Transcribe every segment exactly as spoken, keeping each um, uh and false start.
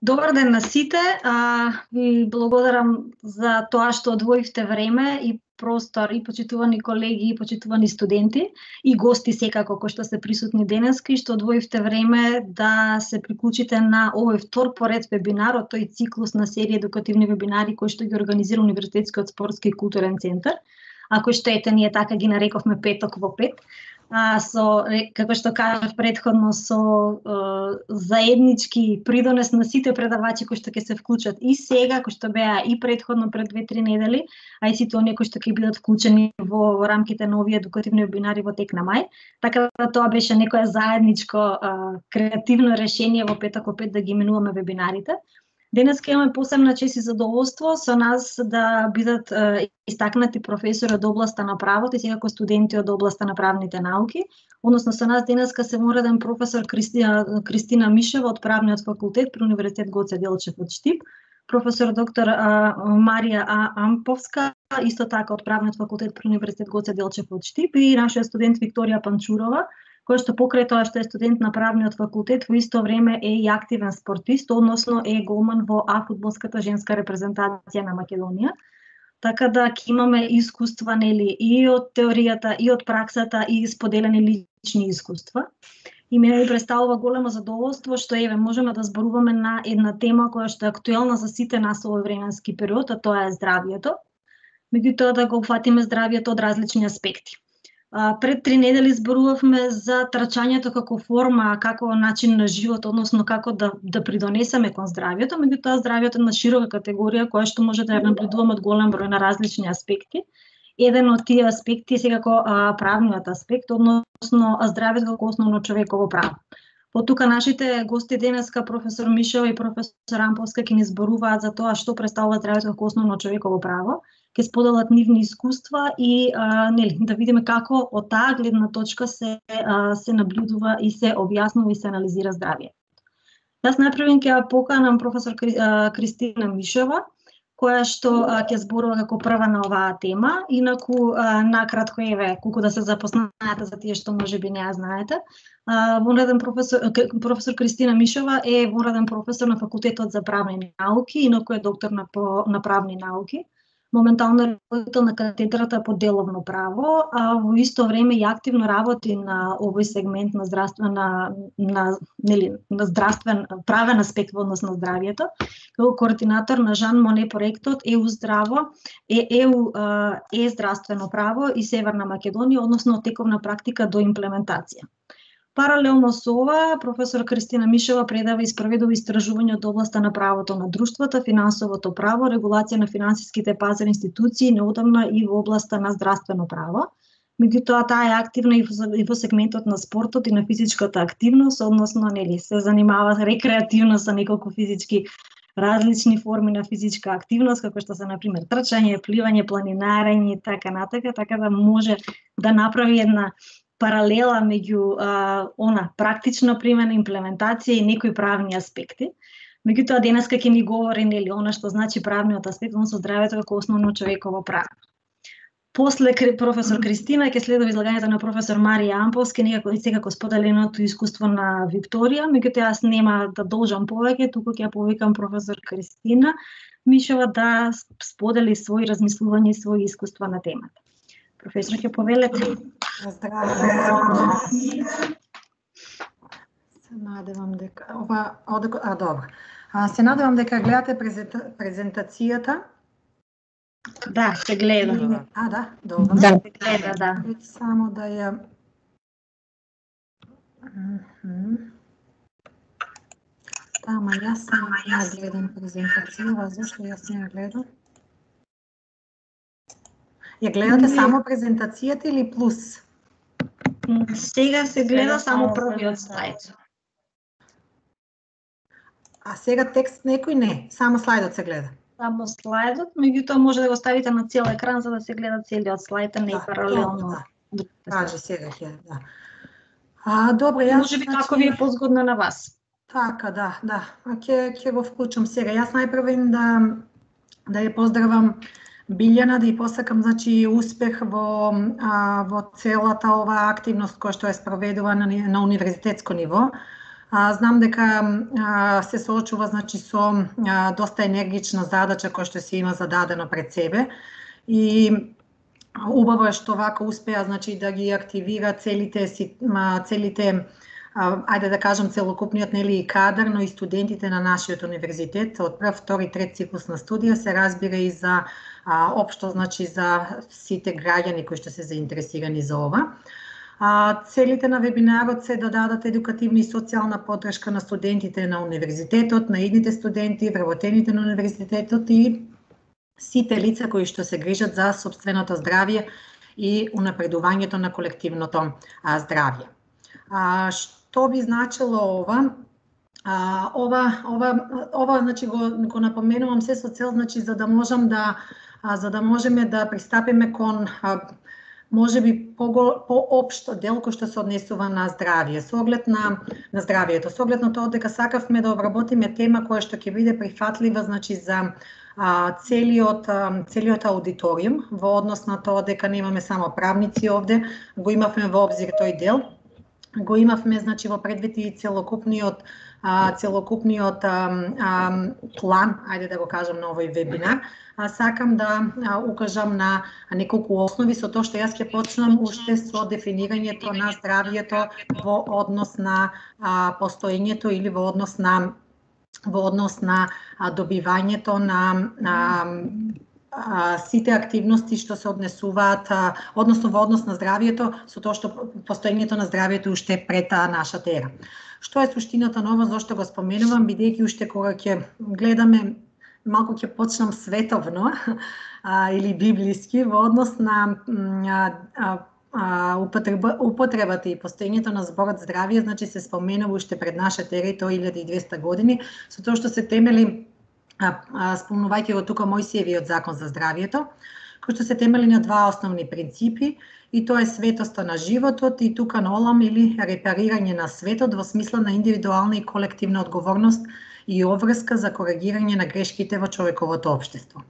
Добар ден на сите. А, ви благодарам за тоа што одвоивте време и простор и почитувани колеги и почитувани студенти и гости секако кои што се присутни денеска и што одвоивте време да се приклучите на овој втор поред вебинар од тој циклус на серија едукативни вебинари кои што ги организира Универзитетскиот спортски и културен центар. Ако што ете, ние така ги нарековме петок во пет. А, со, како што кажав предходно, со е, заеднички придонес на сите предавачи кои што ќе се вклучат и сега, кои што беа и предходно пред две-три недели, а и сите оние кои што ќе бидат вклучени во, во рамките на овие едукативни вебинари во тек на мај. Така да тоа беше некое заедничко е, креативно решение во петок во пет да ги именуваме вебинарите. Денес имаме посебна чест и задоволство со нас да бидат е, истакнати професори од областа на правото и секако студенти од областа на правните науки. Односно со нас денеска се мореден професор Кристина, Кристина Мишева од Правниот факултет при Универзитет Гоце Делчев од Штип, професор доктор а, Марија А. Амповска, исто така од Правниот факултет при Универзитет Гоце Делчев од Штип и нашиот студент Викторија Панчурова, кој што покрај тоа што е студент на Правниот факултет, во исто време е и активен спортист, односно е голман во А фудбалската женска репрезентација на Македонија. Така да ќе имаме искуства, нели, и од теоријата, и од праксата, и споделени лични искуства. И мене ми представува големо задоволство што еве можеме да зборуваме на една тема која што е актуелна за сите нас во овој временски период, а тоа е здравјето. Меѓутоа да го фатиме здравјето од различни аспекти. Пред три недели зборувавме за трчањето како форма, како начин на живот, односно како да, да придонесеме кон здравјето, меѓутоа здравјето е на широка категорија која што може да ја наблюдуваме од голем број на различни аспекти. Еден од тие аспекти е секако а, правниот аспект, односно здравјето како основно човеково право. Потука нашите гости денеска, професор Мишева и професор Амповска, ќе ни зборуваат за тоа што представува здравјето како основно човеково право, ќе споделат нивни искуства и а, нели, да видиме како од таа гледна точка се а, се наблюдува и се објаснува и се анализира здравјето. Јас најпрво ќе ја поканам професор Кри, а, Кристина Мишева, која што а, ќе зборува како прва на оваа тема, инаку а, накратко еве колку да се запознаете за тие што можеби не ја знаете. А, вонреден професор професор Кристина Мишева е вонреден професор на факултетот за правни науки, инаку е доктор на на правни науки. Моментално е ръководител на катедрата по деловно право, а во исто време и активно работи на овој сегмент на здравствен на на нели на здравствен правен аспект во однос на здравјето, како координатор на Жан Моне проектот Е У здраво, е Е У е здравствено право и Северна Македонија, односно тековна практика до имплементација. Паралелно со ова, професор Кристина Мишева предава и спроведува истражување од областа на правото на друштвата, финансовото право, регулација на финансиските пазарни институции, неодамна и во областа на здравствено право. Меѓутоа, таа е активна и во сегментот на спортот и на физичката активност, односно, нели, се занимава рекреативно со неколку физички различни форми на физичка активност, како што се, например, трчање, пливање, планинарење и така натака, така да може да направи една паралела меѓу а, она практична примена, имплементација и некои правни аспекти. Меѓутоа денеска ќе ни говори нели она што значи правниот аспект, односно здравјето како основно човеково право. После професор Кристина ќе следува излагањето на професор Марија Амповска, некако и секако споделеното искуство на Викторија, меѓутоа јас нема да должам повеќе, туку ќе повикам професор Кристина Мишева да сподели своји размислувања и своји искуства на темата. Професор, ќе повелете. Здраво. Се надевам дека ова одако, а добро. А се надевам дека гледате презента... презентацијата. Да, се гледа. А, да, добро. Да, се гледа, да. Само да ја Да, ма јас сама ја гледам презентацијата, зашто јас не ја гледам? Ја гледате само презентацијата или плюс? Сега се гледа само првиот слайд. А сега текст некој не, само слайдот се гледа. Само слайдот, меѓутоа може да го ставите на цел екран за да се гледа целиот слайд, а не Да, паралелно. да. Кажи сега ќе, да. А добро, јас Може би како ви е позгодно на вас. Така, да, да. А ќе ќе го вклучам сега. Јас најпрво да да ја поздравам Билјана, да ја посакам значи успех во а, во целата оваа активност која што е спроведувана на, на универзитетско ниво. А, знам дека а, се соочува значи со а, доста енергична задача која што се има зададено пред себе и убаво е што вака успеа значи да ги активира целите си целите а, ајде да кажам целокупниот нели и кадар, но и студентите на нашиот универзитет од прв, втори, трет циклус на студија, се разбира и за а, општо значи за сите граѓани кои што се заинтересирани за ова. А, целите на вебинарот се да дадат едукативна и социјална поддршка на студентите на универзитетот, на идните студенти, вработените на универзитетот и сите лица кои што се грижат за сопственото здравје и унапредувањето на колективното а, здравје. А, што би значило ова? А, ова ова ова значи го го напоменувам се со цел значи за да можам да а, за да можеме да пристапиме кон а, може би по-општо дел кој што се однесува на здравје, со оглед на, на здравјето, со оглед на тоа дека сакавме да обработиме тема која што ќе биде прифатлива значи за а, целиот, а, целиот аудиториум, во однос на тоа дека немаме само правници овде, го имавме во обзир тој дел, го имавме значи во предвид и целокупниот а, целокупниот а, а, план, ајде да го кажам на овој вебинар. А, сакам да а, укажам на неколку основи со тоа што јас ќе почнам уште со дефинирањето на здравјето во однос на а, постоењето или во однос на во однос на а, добивањето на а, а, сите активности што се однесуваат, а, односно во однос на здравјето, со тоа што постоењето на здравјето уште пред а, нашата ера. Што е суштината на ова, зошто го споменувам, бидејќи уште кога ќе гледаме, малку ќе почнам световно а, или библиски во однос на а, а, а, употреба, употребата и постоењето на зборот здравје, значи се споменува уште пред нашата ера, и тоа илјада и двесте години, со тоа што се темели, а, а, спомнувајќи го тука Мојсиевиот закон за здравјето, кој што се темели на два основни принципи, и тоа е светоста на животот и тука нолам или репарирање на светот во смисла на индивидуална и колективна одговорност и обврска за коригирање на грешките во човековото општество.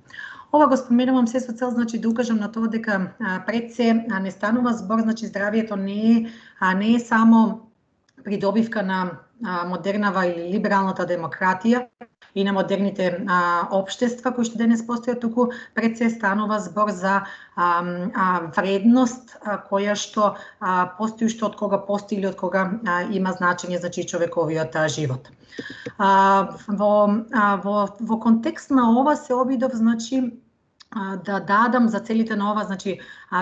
Ова го споменувам се со цел значи да укажам на тоа дека а, пред се а, не станува збор, значи здравјето не е а не е само придобивка на а, модернава или либералната демократија и на модерните а, општества кои што денес постојат, туку пред се станува збор за а, а, вредност а, која што а, постои уште од кога постои или од кога а, има значење значи човековиот а, живот. А, во, а, во, во контекст на ова се обидов значи да дадам за целите на ова значи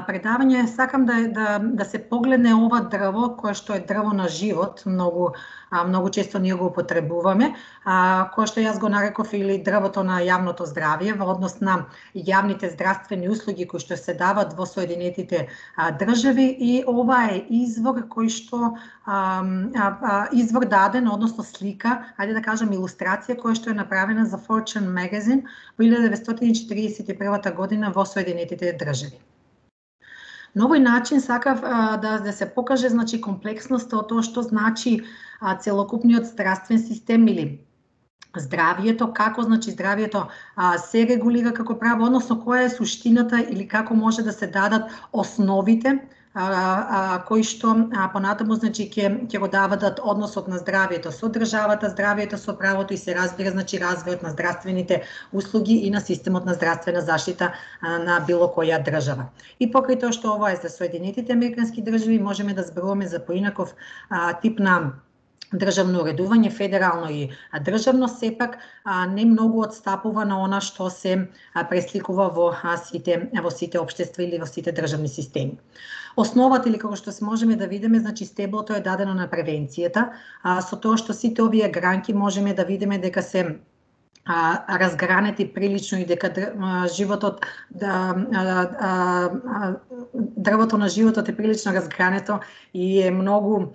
предавање, сакам да да да се погледне ова дрво кое што е дрво на живот, многу многу често ние го употребуваме, кое што јас го нареков или дрвото на јавното здравје во однос на јавните здравствени услуги кои што се дават во Соединетите држави, и ова е извор кој што а, а, извор даден, односно слика, ајде да кажам илустрација која што е направена за Fortune Magazine во илјада деветстотини четиридесет и прва година во Соединетите држави. На овој начин сакав а, да, да се покаже значи комплексноста од тоа што значи а, целокупниот здравствен систем или здравјето, како значи здравјето а, се регулира како право, односно која е суштината или како може да се дадат основите а, а, кои што а, понатаму значи ќе ќе го дават односот на здравјето со државата, здравјето со правото и се разбира значи развојот на здравствените услуги и на системот на здравствена заштита а, на било која држава. И покрај тоа што ова е за Соединетите американски држави, можеме да зборуваме за поинаков а, тип на државно уредување, федерално и државно, сепак не многу отстапува на она што се пресликува во сите во сите општества или во сите државни системи. Основата, или како што се можеме да видиме, значи стеблото е дадено на превенцијата, а со тоа што сите овие гранки можеме да видиме дека се а, разгранети прилично и дека а, животот да а, а, дрвото на животот е прилично разгрането и е многу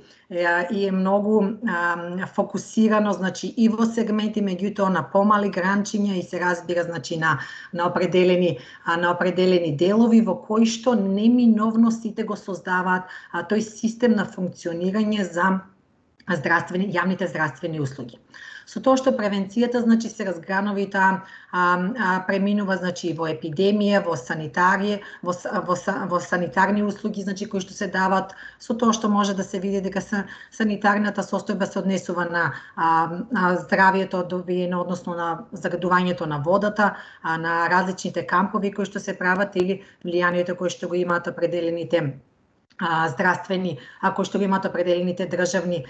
и е многу а, фокусирано значи и во сегменти, меѓутоа на помали гранчиња и се разбира значи на на определени а, на определени делови во кои што неминовно сите го создаваат а, тој систем на функционирање за здравствени, јавните здравствени услуги. Со тоа што превенцијата, значи, се разгранува и таа преминува, значи, во епидемија, во санитарија, во, во, во санитарни услуги, значи, кои што се дават, со тоа што може да се види дека санитарната состојба се однесува на а, а, здравието добиено, односно на загадувањето на водата, а, на различните кампови кои што се прават или влијанието кои што го имаат определените здравствени, ако што го имаат определените државни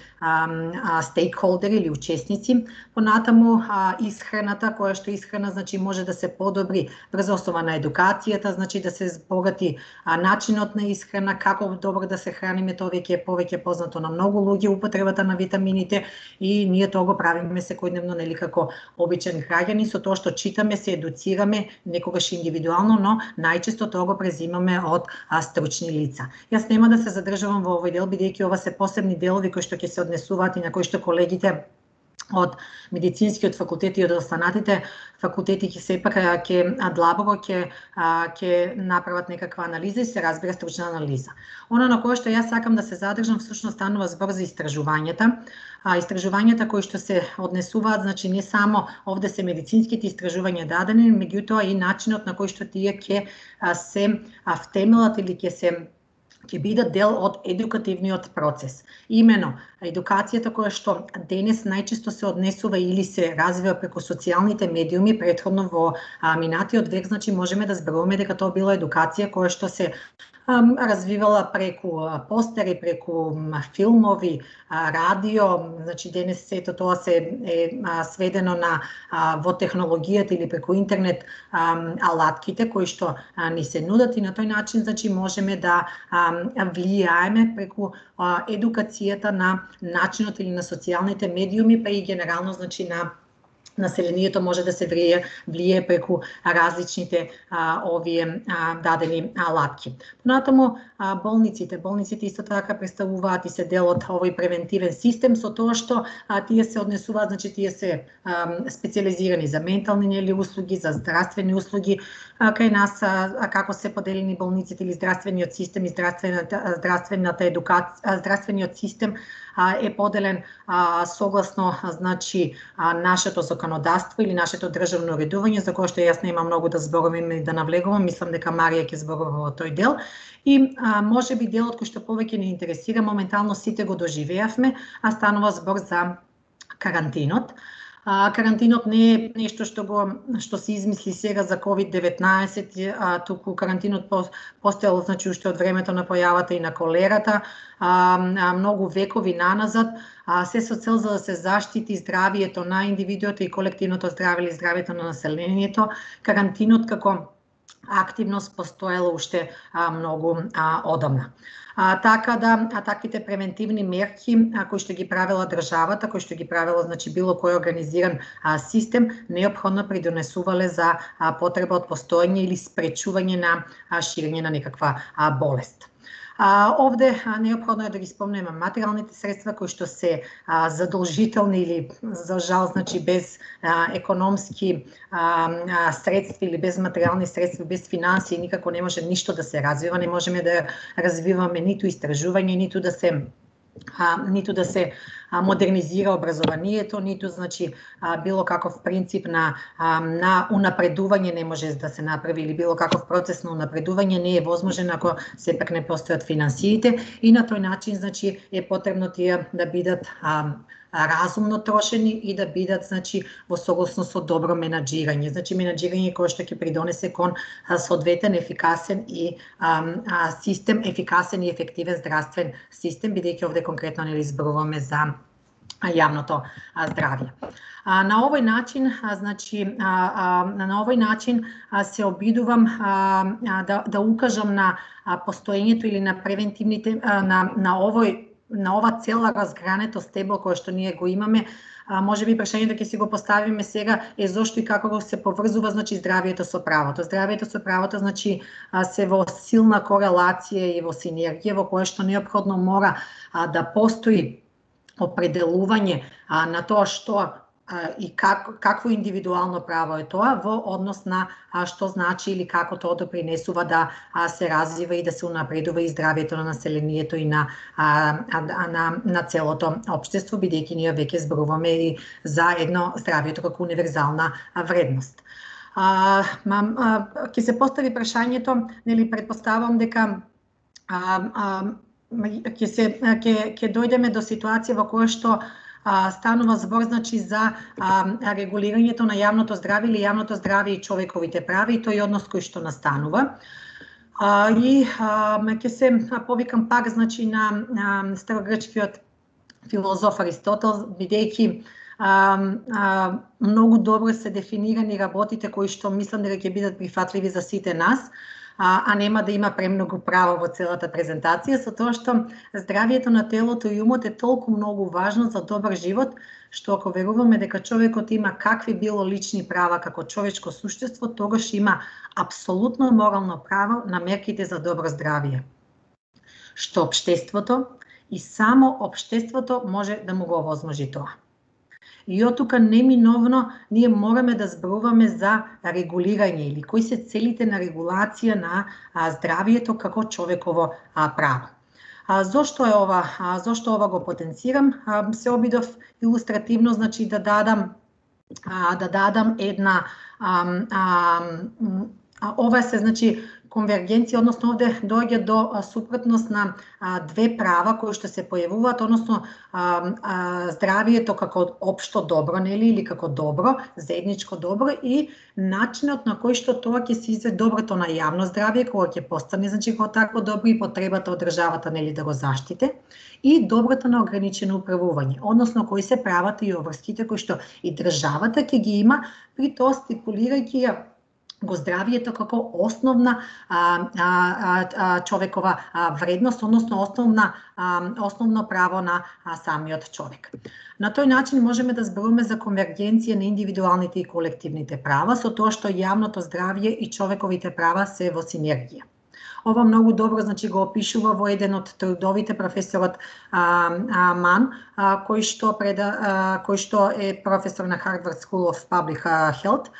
стейкхолдери или учесници. Понатаму исхраната, која што исхрана, значи, може да се подобри врз основа на едукацијата, значи да се збогати начинот на исхрана, како добро да се храниме, тоа веќе е повеќе познато на многу луѓе, употребата на витамините, и ние тоа го правиме секојдневно, нели, како обичен граѓани, со тоа што читаме, се едуцираме, некогаш индивидуално, но најчесто тоа го презимаме од стручни лица. Јас нема да се задржувам во овој дел, бидејќи ова се посебни делови кои што ќе се однесуваат и на кои што колегите од медицинскиот факултет и од останатите факултети ќе сепак ќе длабоко ќе ќе направат некаква анализа и се разбира стручна анализа. Она на кое што јас сакам да се задржам всушност станува збор за истражувањата. А истражувањата кои што се однесуваат, значи не само овде се медицинските истражувања дадени, меѓутоа и начинот на кој што тие ќе се втемелат или ќе се ќе бидат дел од едукативниот процес. Имено, едукацијата која што денес најчесто се однесува или се развива преку социјалните медиуми, претходно во минатиот век, значи можеме да зборуваме дека тоа била едукација која што се развивала преку постери, преку филмови, радио, значи денес сето тоа се е сведено на во технологијата или преку интернет алатките кои што ни се нудат, и на тој начин, значи, можеме да влијаеме преку едукацијата на начинот или на социјалните медиуми, па и генерално, значи, на населението може да се влие, влие преку различните а, овие а, дадени алатки. Понатаму а, болниците, болниците исто така представуваат и се дел од овој превентивен систем, со тоа што а, тие се однесуваат, значи тие се а, специализирани за ментални нели услуги, за здравствени услуги. А, кај нас а, а, како се поделени болниците или здравствениот систем и здравствената здравствената едукација, здравствениот систем а, е поделен а, согласно, значи, а, нашето законодавство или нашето државно уредување, за кое што јас нема многу да зборувам и да навлегувам, мислам дека Марија ќе зборува во тој дел. И а, може би делот кој што повеќе не интересира, моментално сите го доживеавме, а станува збор за карантинот. А, карантинот не е нешто што го што се измисли сега за ковид деветнаесет, а туку карантинот по, постоел, значи, уште од времето на појавата и на колерата, а, а многу векови наназад, а се со цел за да се заштити здравието на индивидуото и колективното здравје или здравието на населението. Карантинот како активност постоела уште а, многу а, одамна. А, така да, а таквите превентивни мерки а, кои што ги правила државата, кои што ги правила, значи, било кој организиран а, систем, неопходно придонесувале за а, потреба од постоење или спречување на а, ширење на некаква а, болест. А, овде а, неопходно е да ги спомнеме материјалните средства кои што се а, задолжителни или, за жал, значи, без а, економски а, а, средства или без материјални средства, без финансии, никако не може ништо да се развива, не можеме да развиваме ниту истражување, ниту да се А, ниту да се а, модернизира образованието, ниту, значи, а, било каков принцип на а, на унапредување не може да се направи, или било каков процес на унапредување не е возможен ако сепак не постојат финансиите, и на тој начин, значи, е потребно тие да бидат а, разумно трошени и да бидат, значи, во согласност со добро менаџирање. Значи, менаџирање кое што ќе придонесе кон соодветен, ефикасен и а, а, систем, ефикасен и ефективен здравствен систем, бидејќи овде конкретно не изборуваме за јавното а, здравје. А, на овој начин, а, значи, а, а, на овој начин а, се обидувам а, а, да, да укажам на а, постоењето или на превентивните, а, на, на овој на ова цела разгрането стебло кое што ние го имаме. А, може би прашањето ќе си го поставиме сега е зошто и како се поврзува, значи, здравието со правото. Здравието со правото, значи, се во силна корелација и во синергија, во кое што неопходно мора а, да постои определување а, на тоа што и как, какво индивидуално право е тоа во однос на а, што значи или како тоа допринесува да а, се развива и да се унапредува и здравието на населението и на, а, а, на, на целото општество, бидејќи ние веќе зборуваме и за едно здравието како универзална вредност. А, мам, а, ке се постави прашањето, нели претпоставам дека а, а, ќе се ќе ќе дојдеме до ситуација во која што а, станува збор значи за а, регулирањето на јавното здравје или јавното здравје и човековите прави и тој однос кој што настанува. А, и а, ќе се повикам пак значи на, на старогрчкиот филозоф Аристотел, бидејќи а, а, многу добро се дефинирани работите кои што мислам дека ќе бидат прифатливи за сите нас. А, а нема да има премногу право во целата презентација, со тоа што здравието на телото и умот е толку многу важно за добар живот, што ако веруваме дека човекот има какви било лични права како човечко суштество, тогаш има апсолутно морално право на мерките за добро здравје, што општеството и само општеството може да му го овозможи тоа. И од тука неминовно ние мораме да зборуваме за регулирање или кои се целите на регулација на а, здравието како човеково а, право. А, зошто е ова? А, зошто ова го потенцирам? А, се обидов илустративно значи да дадам а, да дадам една а, а, а, ова се значи конвергенција, односно овде доаѓа до а, супротност на а, две права кои што се појавуваат, односно а, а, здравието како општо добро, нели, или како добро, заедничко добро и начинот на кој што тоа ќе се изведе доброто на јавно здравје, кога ќе постане значи како такво добро и потребата од државата нели да го заштите, и доброто на ограничено управување, односно кои се правата и обврските кои што и државата ќе ги има, при тоа стипулирајќи ја го здравието како основна а, а, а, човекова а, вредност, односно основна, а, основно право на а, самиот човек. На тој начин можеме да зборуваме за конвергенција на индивидуалните и колективните права, со тоа што јавното здравје и човековите права се во синергија. Ова многу добро значи го опишува во еден од трудовите професорот а, а, Ман, а, кој што преда, а, кој што е професор на Harvard School of Public Health,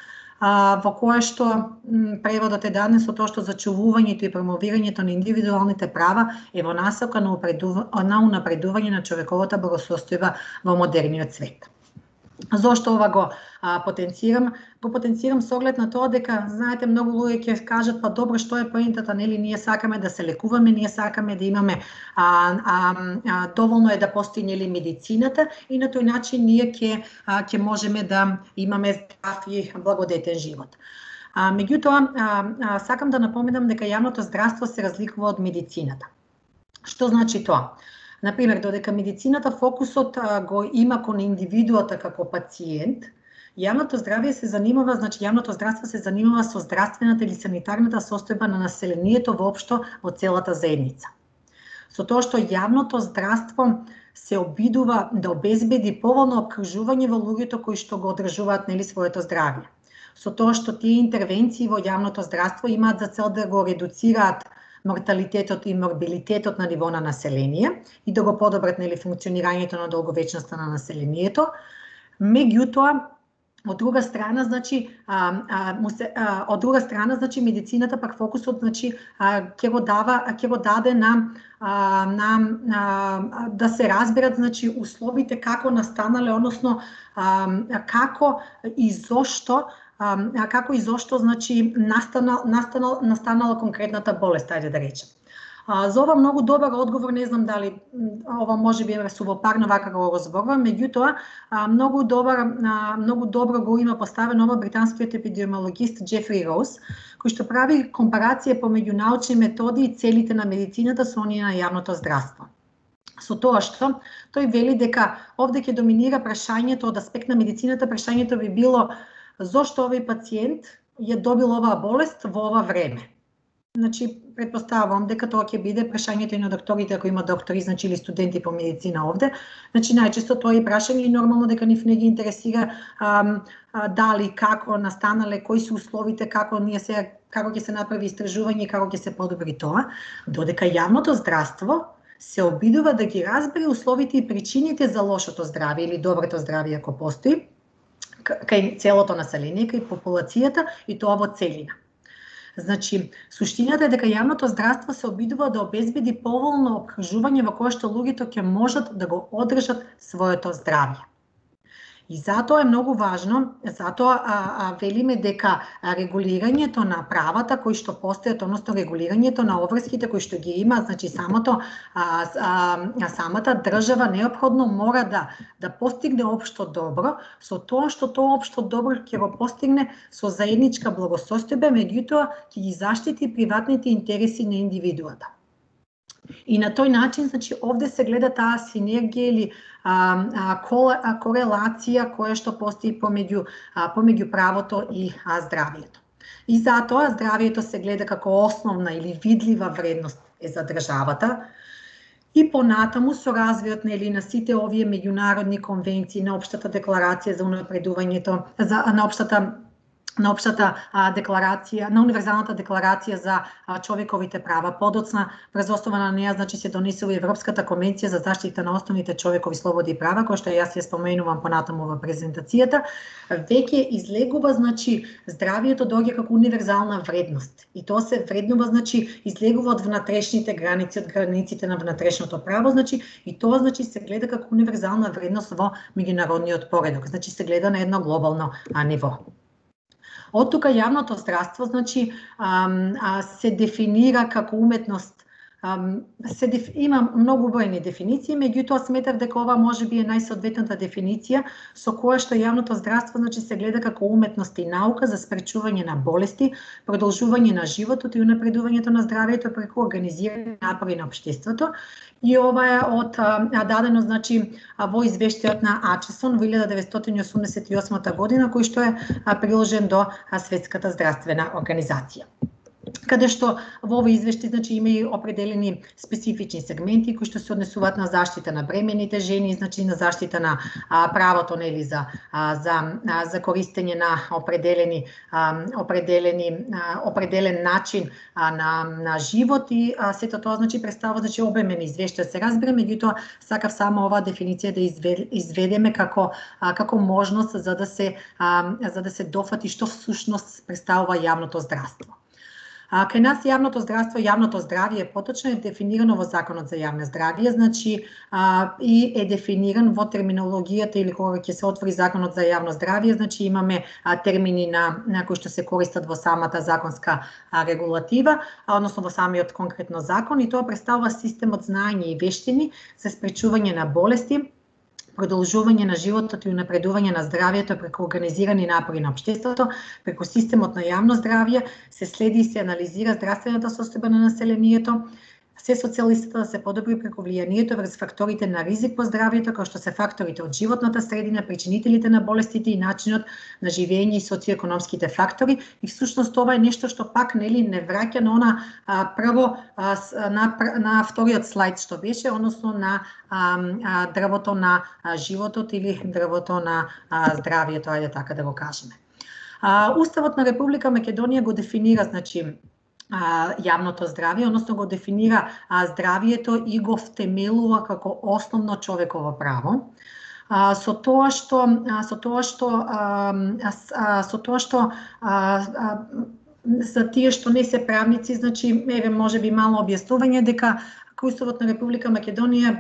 а, во кое што м, преводот е даден со тоа што зачувувањето и промовирањето на индивидуалните права е во насока на, на унапредување на човековата благосостојба во модерниот свет. Зошто ова го а, потенцирам? Го потенцирам со оглед на тоа дека, знаете, многу луѓе ќе кажат, па добро, што е поентата, нели, ние сакаме да се лекуваме, ние сакаме да имаме, а, а, а, доволно е да постои, нели, медицината и на тој начин ние ќе ќе можеме да имаме здрав и благодетен живот. А, меѓутоа, а, а, сакам да напоменам дека јавното здравство се разликува од медицината. Што значи тоа? Например, додека медицината фокусот а, го има кон индивидуата како пациент, јавното здравје се занимава, значи јавното здравство се занимава со здравствената или санитарната состојба на населението воопшто во целата заедница. Со тоа што јавното здравство се обидува да обезбеди поволно опкружување во луѓето кои што го одржуваат нели своето здравје. Со тоа што тие интервенции во јавното здравство имаат за цел да го редуцираат морталитетот и морбилитетот на ниво на население и да го подобрат нели функционирањето на долговечноста на населението. Меѓутоа, од друга страна, значи, а, а, му се, а, од друга страна, значи медицината пак фокусот, значи, ќе го дава, ќе го даде на а, на а, да се разберат, значи, условите како настанале, односно а, како и зошто А, како и зошто значи настанал, настанал, настанала конкретната болест, ајде да речем. А, за ова многу добар одговор, не знам дали ова може би е сувопарно вака го разборувам, меѓутоа многу добар а, многу добро го има поставено ова британскиот епидемиологист Джефри Роуз, кој што прави компарација помеѓу научни методи и целите на медицината со оние на јавното здравство. Со тоа што тој вели дека овде ќе доминира прашањето од аспект на медицината, прашањето би било зошто овој пациент ја добил оваа болест во ова време. Значи, предпоставувам дека тоа ќе биде прашањето и на докторите, ако има доктори, значи или студенти по медицина овде. Значи, најчесто тоа е прашање и нормално дека нив не ги интересира а, а, дали, како настанале, кои се условите, како ние се како ќе се направи истражување и како ќе се подобри тоа, додека јавното здравство се обидува да ги разбере условите и причините за лошото здравје или доброто здравје ако постои, кај целото население, кај популацијата и тоа во целина. Значи, суштината е дека јавното здравство се обидува да обезбеди поволно окружување во кое што луѓето ќе можат да го одржат своето здравје. И затоа е многу важно, затоа а, а, велиме дека регулирањето на правата кои што постојат, односно регулирањето на обврските кои што ги има, значи самото а, а, самата држава неопходно мора да да постигне општо добро, со тоа што тоа општо добро ќе го постигне со заедничка благосостојба, меѓутоа ќе ги заштити приватните интереси на индивидуата. И на тој начин, значи, овде се гледа таа синергија или а, а, корелација која што постои помеѓу а, помеѓу правото и а, здравието. И затоа здравието се гледа како основна или видлива вредност е за државата. И понатаму со развојот нели на сите овие меѓународни конвенции, на општата декларација за унапредувањето, за на општата на општата а, декларација, на универзалната декларација за а, човековите права. Подоцна, врз основа на неа, значи се донесува Европската конвенција за заштита на основните човекови слободи и права, која што јас ја споменувам понатаму во презентацијата, веќе излегува, значи, здравието доаѓа како универзална вредност. И тоа се вреднува, значи, излегува од внатрешните граници, од границите на внатрешното право, значи, и тоа, значи, се гледа како универзална вредност во меѓународниот поредок. Значи, се гледа на едно глобално а, ниво. Од тука јавното здравство, значи, а, а, се дефинира како уметност. А, се деф... Има многу бројни дефиниции, меѓутоа сметав дека ова можеби е најсоодветната дефиниција со која што јавното здравство, значи, се гледа како уметност и наука за спречување на болести, продолжување на животот и унапредувањето на здравието преку организирање напори на општеството. И ова е од а, дадено, значи, во извештајот на Ачесон во илјада деветстотини осумдесет и осма година, кој што е а, приложен до а, Светската здравствена организација. Каде што во овој извештај, значи, има и определени специфични сегменти кои што се однесуваат на заштита на бремените жени, значи на заштита на а, правото нели за а, за а, за користење на определени а, определени а, определен начин а, на на живот и а, сето тоа, значи, представува, значи, обемен извештај, се разбере, меѓутоа сакав само оваа дефиниција да изведеме како а, како можност за да се а, за да се дофати што всушност представува јавното здравство. А, кај нас јавното здравство, јавното здравје поточно е дефинирано во Законот за јавно здравје, значи а, и е дефиниран во терминологијата или кога ќе се отвори Законот за јавно здравје, значи имаме а, термини на, на кои што се користат во самата законска а, регулатива, а, односно во самиот конкретно закон, и тоа представува системот знаење и вештини за спречување на болести, продолжување на животот и унапредување на здравието преку организирани напори на општеството, преку системот на јавно здравје, се следи и се анализира здравствената состојба на населението, се социјалистата да се подобри преку влијанието врз факторите на ризик по здравието, како што се факторите од животната средина, причинителите на болестите и начинот на живење и социоекономските фактори. И всушност ова е нешто што пак нели не враќа на она а, прво а, на, на вториот слайд што беше, односно на а, а, дрвото на а, животот или дрвото на а, здравието, ајде така да го кажеме. А, Уставот на Република Македонија го дефинира, значи, А, јавното здравје, односно го дефинира а, здравието и го втемелува како основно човеково право. А, со тоа што а, со тоа што а, а, со тоа што а, а, за тие што не се правници, значи еве можеби мало објаснување дека Уставот на Република Македонија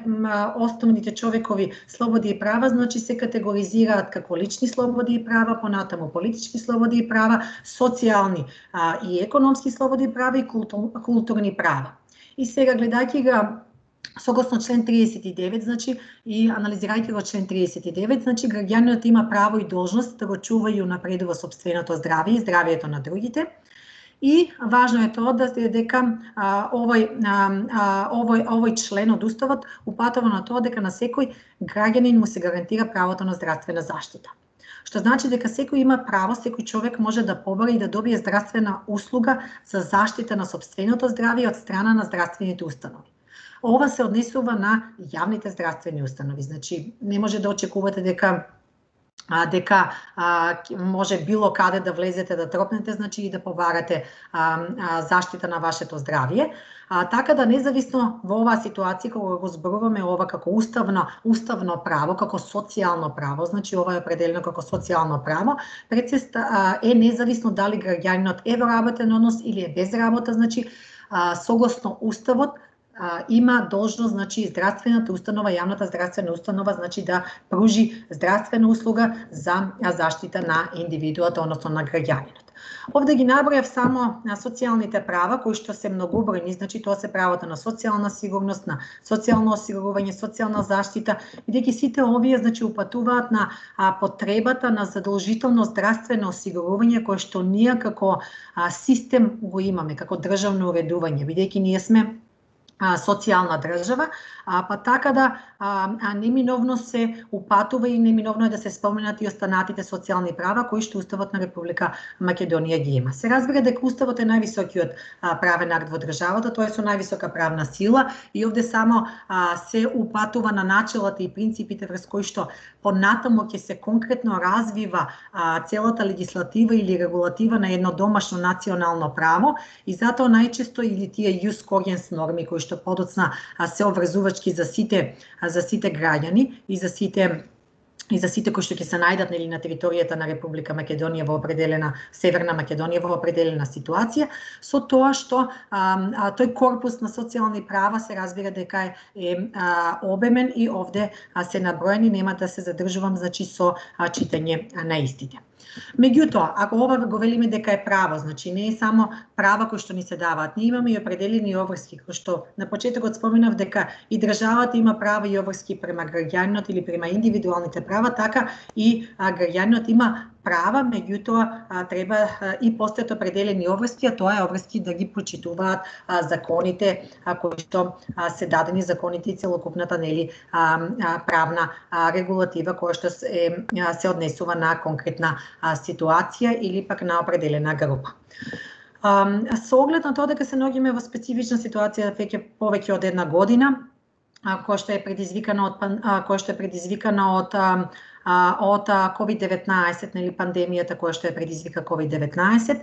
основните човекови слободи и права, значи се категоризираат како лични слободи и права, понатаму политички слободи и права, социјални а, и економски слободи и права и култур, културни права. И сега гледајќи ga согласно член триесет и девет, значи и анализирајќи го член триесет и девет, значи граѓанинот има право и должност да го чува и унапредува сопственото здравје и здравието на другите. И важно е тоа да се дека а, овој, а, овој, овој член од Уставот упатува на тоа дека на секој граѓанин му се гарантира правото на здравствена заштита. Што значи дека секој има право, секој човек може да побара и да добие здравствена услуга за заштита на сопственото здравје од страна на здравствените установи. Ова се однесува на јавните здравствени установи. Значи, не може да очекувате дека а, дека а, може било каде да влезете да тропнете, значи и да побарате а, а, заштита на вашето здравје. А, така да независно во оваа ситуација кога го зборуваме ова како уставно уставно право, како социјално право, значи ова е определено како социјално право, пред е независно дали граѓанинот е во работен однос или е без работа, значи а, согласно уставот а, има должност, значи здравствената установа, јавната здравствена установа, значи да пружи здравствена услуга за заштита на индивидуата, односно на граѓанинот. Овде ги набројав само на социјалните права, кои што се многобројни, значи тоа се правото на социјална сигурност, на социјално осигурување, социјална заштита, бидејќи сите овие значи упатуваат на а, потребата на задолжително здравствено осигурување кое што ние како а, систем го имаме, како државно уредување, бидејќи ние сме а, социјална држава, а, па така да а, а неминовно се упатува и неминовно е да се споменат и останатите социјални права кои што Уставот на Република Македонија ги има. Се разбира дека Уставот е највисокиот а, правен акт во државата, тоа е со највисока правна сила и овде само а, се упатува на начелата и принципите врз кои што понатаму ќе се конкретно развива а, целата легислатива или регулатива на едно домашно национално право и затоа најчесто или тие јус когенс норми кои што подоцна а, се обврзувачки за сите за сите граѓани и за сите и за сите кои што ќе се најдат нели на територијата на Република Македонија во определена Северна Македонија во определена ситуација, со тоа што а, а, тој корпус на социјални права се разбира дека е, е а, обемен и овде а, се наброени, нема да се задржувам значи со а, читање а, на истите. Меѓутоа, ако ова го велиме дека е право, значи не е само права кои што ни се даваат, ние имаме и определени обврски, кои што на почетокот споменав дека и државата има права и обврски према граѓанинот или према индивидуалните права, така и граѓанинот има права, меѓутоа треба а, и постојат определени обврски, а тоа е обврски да ги почитуваат а, законите а, кои што а, се дадени законите и целокупната нели а, а, правна а, регулатива која што се, а, се однесува на конкретна а, ситуација или пак на определена група. А, со оглед на тоа дека се наоѓаме во специфична ситуација веќе повеќе од една година, а, која што е предизвикана од а, која што е предизвикана од а, од ковид деветнаесет, нели пандемијата која што е предизвика ковид деветнаесет.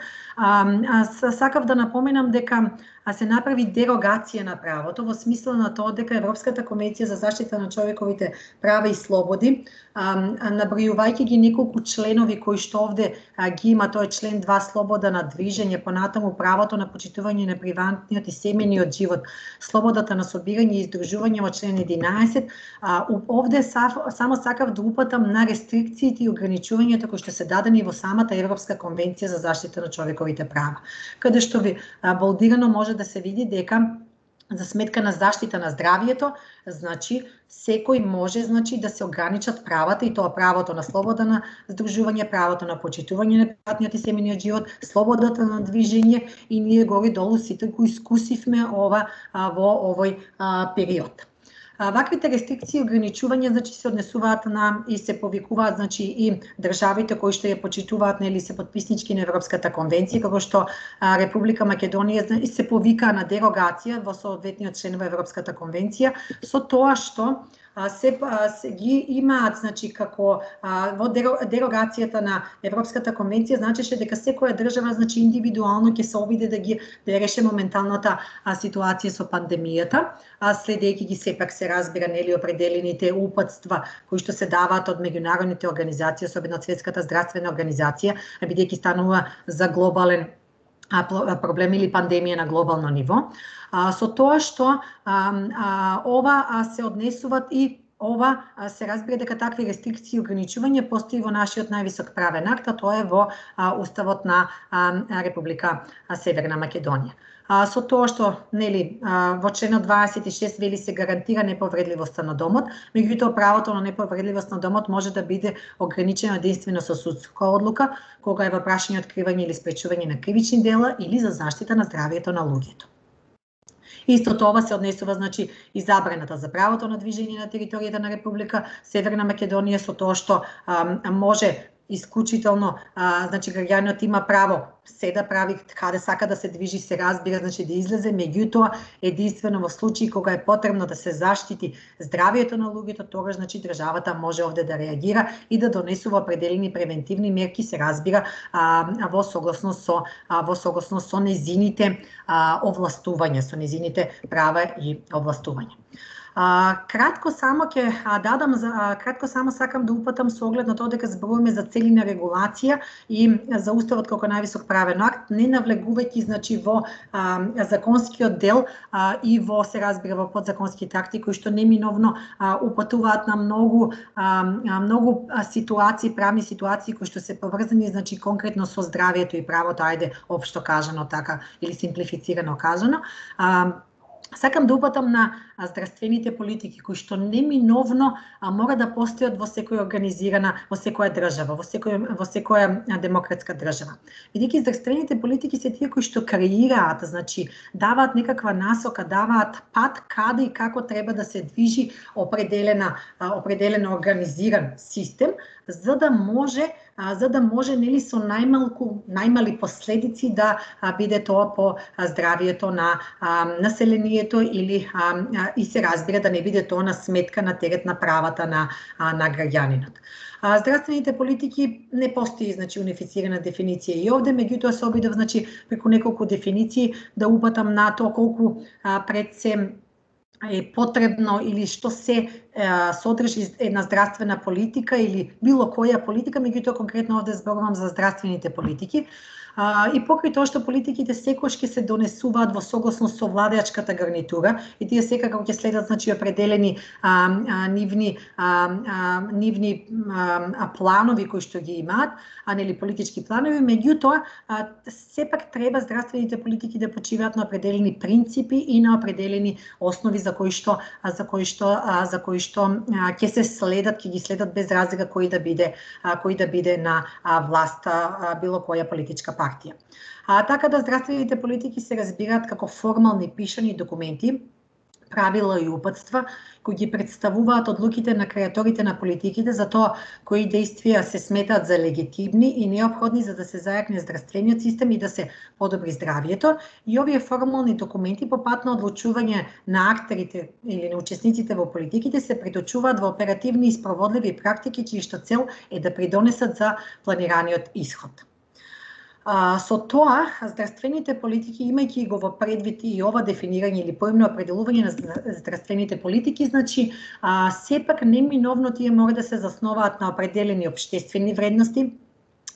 Сакав да напоменам дека се направи дерогација на правото во смисла на тоа дека Европската конвенција за заштита на човековите права и слободи, набројувајќи ги неколку членови кои што овде ги има, тоа е член два слобода на движење, понатаму правото на почитување на приватниот и семејниот живот, слободата на собирање и издружување во член единаесет, овде само сакав да упатам на рестрикциите и ограничувањата кои што се дадени во самата Европска конвенција за заштита на човековите права, каде што ви балдирано може да се види дека за сметка на заштита на здравјето, значи секој може значи да се ограничат правата и тоа правото на слобода на здружување, правото на почитување на приватниот и семејниот живот, слободата на движење и ние горе-долу сите го искусивме ова а, во овој а, период. Ваквите рестрикции и ограничувања значи се однесуваат на и се повикуваат значи и државите кои што ја почитуваат нели се потписнички на Европската конвенција, како што а, Република Македонија се повика на дерогација во соодветниот член во Европската конвенција, со тоа што се, се ги имаат значи како а, во дерогацијата на Европската конвенција значеше дека секоја држава значи индивидуално ќе се обиде да ги да реше моменталната а, ситуација со пандемијата, а следејќи ги сепак се разбира нели определените упатства кои што се даваат од меѓународните организации, особено од Светската здравствена организација, бидејќи станува за глобален проблем или пандемија на глобално ниво. А, со тоа што а, а, ова а, се однесуваат и ова а, се разбира дека такви рестрикции и ограничувања постои во нашиот највисок правен акт, а тоа е во а, Уставот на а, Република Северна Македонија. А, со тоа што нели а, во членот дваесет и шест вели се гарантира неповредливоста на домот, меѓутоа правото на неповредливост на домот може да биде ограничено единствено со судска одлука, кога е во прашање откривање или спречување на кривични дела или за заштита на здравјето на луѓето. Исто тоа се однесува значи и забраната за правото на движење на територијата на Република Северна Македонија, со тоа што а, може исклучително, а, значи граѓанинот има право се да прави каде сака да се движи, се разбира, значи да излезе, меѓутоа единствено во случаи кога е потребно да се заштити здравието на луѓето, тогаш значи државата може овде да реагира и да донесува определени превентивни мерки, се разбира, а, во согласност со а, во согласност со незините а, овластувања, со незините права и овластувања. А, кратко само ќе дадам за а, кратко само сакам да упатам со оглед на тоа дека зборуваме за цели на регулација и за уставот како највисок правен акт, не навлегувајќи значи во а, законскиот дел а, и во се разбира во подзаконските акти кои што неминовно а, упатуваат на многу а, многу ситуации, правни ситуации кои што се поврзани значи конкретно со здравието и правото, ајде општо кажано така или симплифицирано кажано. А, Сакам да упатам на здравствените политики кои што неминовно а, мора да постојат во секоја организирана, во секоја држава, во секоја во секоја демократска држава. Бидејќи здравствените политики се тие кои што креираат, значи даваат некаква насока, даваат пат каде и како треба да се движи определена определен организиран систем, за да може а, за да може нели со најмалку најмали последици да а, биде тоа по а, здравието на а, населението или а, и се разбира да не биде тоа на сметка на терет на правата на а, на граѓанинот. А, здравствените политики не постои значи унифицирана дефиниција и овде, меѓутоа се обидов значи преку неколку дефиниции да упатам на тоа колку а, пред се е потребно или што се е, содржи една здравствена политика или било која политика, меѓутоа конкретно овде зборувам за здравствените политики. А, и покрај тоа што политиките секогаш ќе се донесуваат во согласност со владеачката гарнитура и тие секако ќе следат значи определени а, а, нивни а, а, нивни а, планови кои што ги имаат, а нели политички планови, меѓутоа а, сепак треба здравствените политики да почиваат на определени принципи и на определени основи за кои што а, за кои што а, за кои што а, ќе се следат, ќе ги следат без разлика кој да биде а, кој да биде на а, власт а, било која политичка партија. Партија. А, така да здравствените политики се разбираат како формални пишани документи, правила и упатства кои ги представуваат одлуките на креаторите на политиките за тоа кои действија се сметаат за легитимни и неопходни за да се зајакне здравствениот систем и да се подобри здравието. И овие формални документи по пат на одлучување на актерите или на учесниците во политиките се преточуваат во оперативни и спроводливи практики чии што цел е да придонесат за планираниот исход. А, со тоа, здравствените политики, имајќи го во предвид и ова дефинирање или поимно определување на здравствените политики, значи, а, сепак неминовно тие мора да се засноваат на определени општествени вредности,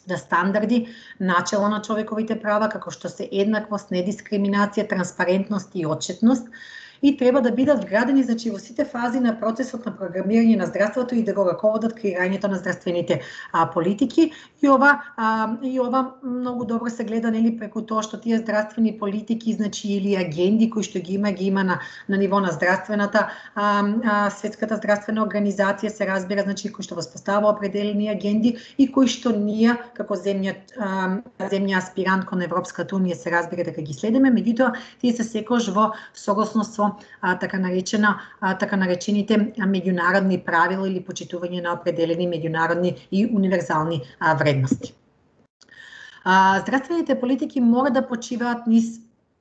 да стандарди, начела на човековите права, како што се еднаквост, недискриминација, транспарентност и отчетност, и треба да бидат вградени значи во сите фази на процесот на програмирање на здравството и да го раководат креирањето на здравствените а, политики. И ова а, и ова многу добро се гледа нели преку тоа што тие здравствени политики значи или агенди кои што ги има ги има на на ниво на здравствената а, а, светската здравствена организација се разбира значи кои што воспоставува определени агенди и кои што ние како земја а, земја аспирант кон Европската унија се разбира дека ги следиме, меѓутоа тие се секогаш во согласност со А, така наречена а, така наречените меѓународни правила или почитување на определени меѓународни и универзални а, вредности. А, здравствените политики мора да почиваат низ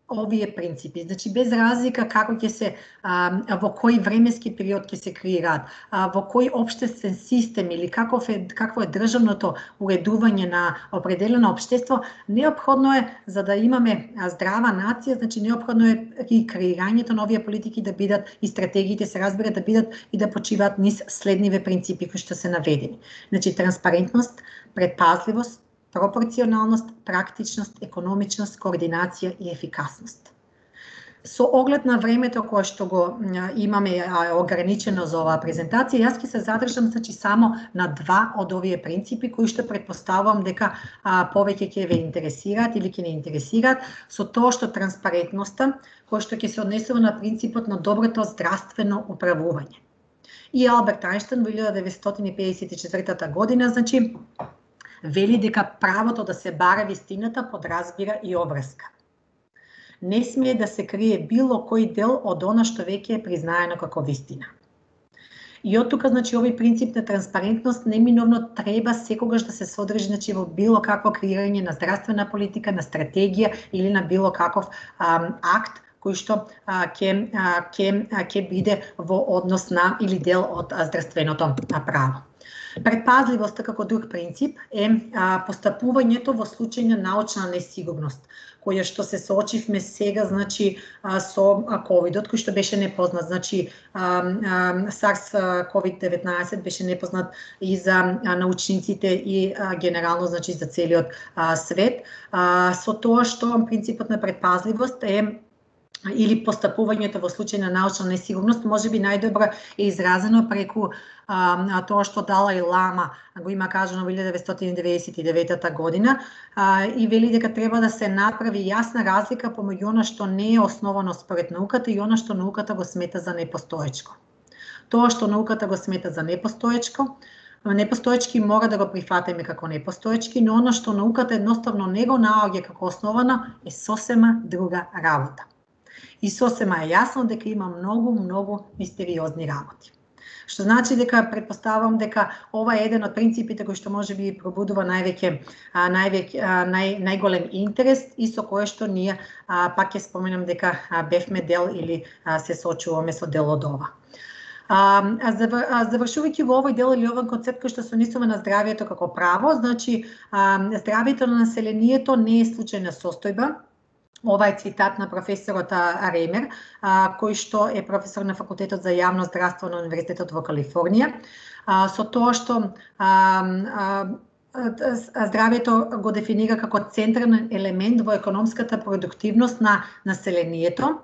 овие принципи, значи без разлика како ќе се а, во кој временски период ќе се креираат, а, во кој општествен систем или каков е какво е државното уредување на определено општество, неопходно е за да имаме здрава нација, значи неопходно е и креирањето на овие политики да бидат и стратегиите се разбира да бидат и да почиваат низ следниве принципи кои што се наведени. Значи транспарентност, предпазливост, пропорционалност, практичност, економичност, координација и ефикасност. Со оглед на времето кое што го имаме ограничено за оваа презентација, јас ќе се задржам значи само на два од овие принципи кои што претпоставувам дека а, повеќе ќе ве интересираат или ќе не интересираат, со тоа што транспарентноста, кој што ќе се однесува на принципот на доброто здравствено управување. И Алберт Ајнштајн во илјада деветстотини педесет и четвртата година, значи, вели дека правото да се бара вистината подразбира и обврска. Не смее да се крие било кој дел од она што веќе е признаено како вистина. И од тука, значи, овој принцип на транспарентност неминовно треба секогаш да се содржи, значи, во било какво креирање на здравствена политика, на стратегија или на било каков а, акт кој што ќе ќе ќе биде во однос на или дел од а, здравственото а, право. Предпазливоста како друг принцип е а, постапувањето во случај на научна несигурност, која што се соочивме сега, значи, а, со ковидот, кој што беше непознат. Значи, а, а, SARS-ковид деветнаесет беше непознат и за а, научниците и а, генерално, значи, за целиот а, свет. А, со тоа што принципот на предпазливост е или постапувањето во случај на научна несигурност можеби најдобро е изразено преку а, тоа што Далај Лама го има кажано во илјада деветстотини деветдесет и девета година а, и вели дека треба да се направи јасна разлика помеѓу она што не е основано според науката и она што науката го смета за непостоечко. Тоа што науката го смета за непостоечко, непостоечки мора да го прифатиме како непостоечки, но она што науката едноставно не го наоѓа како основано е сосема друга работа. И сосема е јасно дека има многу, многу мистериозни работи. Што значи дека претпоставам дека ова е еден од принципите кои што можеби пробудува највеќе највеќе нај најголем интерес и со кое што ние а, пак ќе споменам дека а, бевме дел или а, се соочуваме со дел од ова. А, завршувајќи во овој дел или овој концепт кој што се однесува на здравието како право, значи а, здравието на населението не е случајна состојба. Ова е цитат на професорот Ремер, кој што е професор на факултетот за јавно здравство на Универзитетот во Калифорнија, со тоа што здравието го дефинира како централен елемент во економската продуктивност на населението,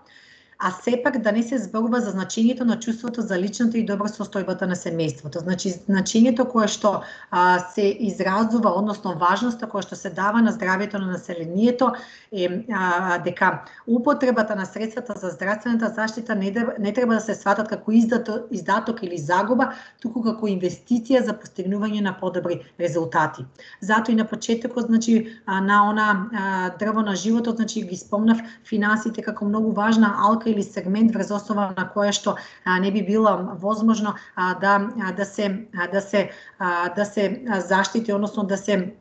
а сепак да не се зборува за значењето на чувството за личната и добра состојбата на семејството. Значи, значењето кое што а, се изразува, односно важноста која што се дава на здравието на населението е а, дека употребата на средствата за здравствената заштита не, не треба да се сватат како издаток, издаток или загуба, туку како инвестиција за постигнување на подобри резултати. Затоа и на почетокот, значи, на она а, дрво на животот, значи ги спомнав финансите како многу важна алка или сегмент врз основа на која што а, не би било возможно а, да а, да се а, да се а, да се заштити, односно да се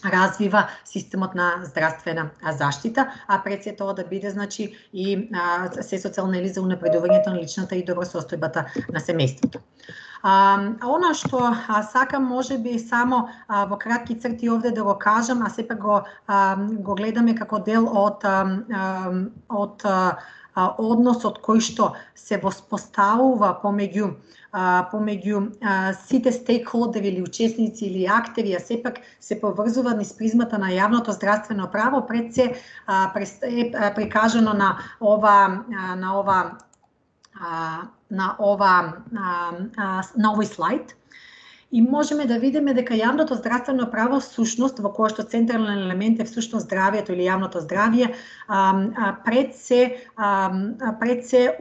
развива системот на здравствена заштита, а пред се тоа да биде, значи, и а, се социјално или за унапредувањето на личната и добра состојбата на семејството. А, она што а, сакам можеби само а, во кратки црти овде да го кажам, а сепак го а, го гледаме како дел од а, од а, односот кој што се воспоставува помеѓу а, помеѓу а, сите стейкхолдери или учесници или актери, а сепак се поврзува низ призмата на јавното здравствено право, пред се а, е прикажано на ова а, на ова а, на ова а, а, на овој слайд. И можеме да видиме дека јавното здравствено право всушност, во кое што централен елемент е всушност здравието или јавното здравје, пред се пред се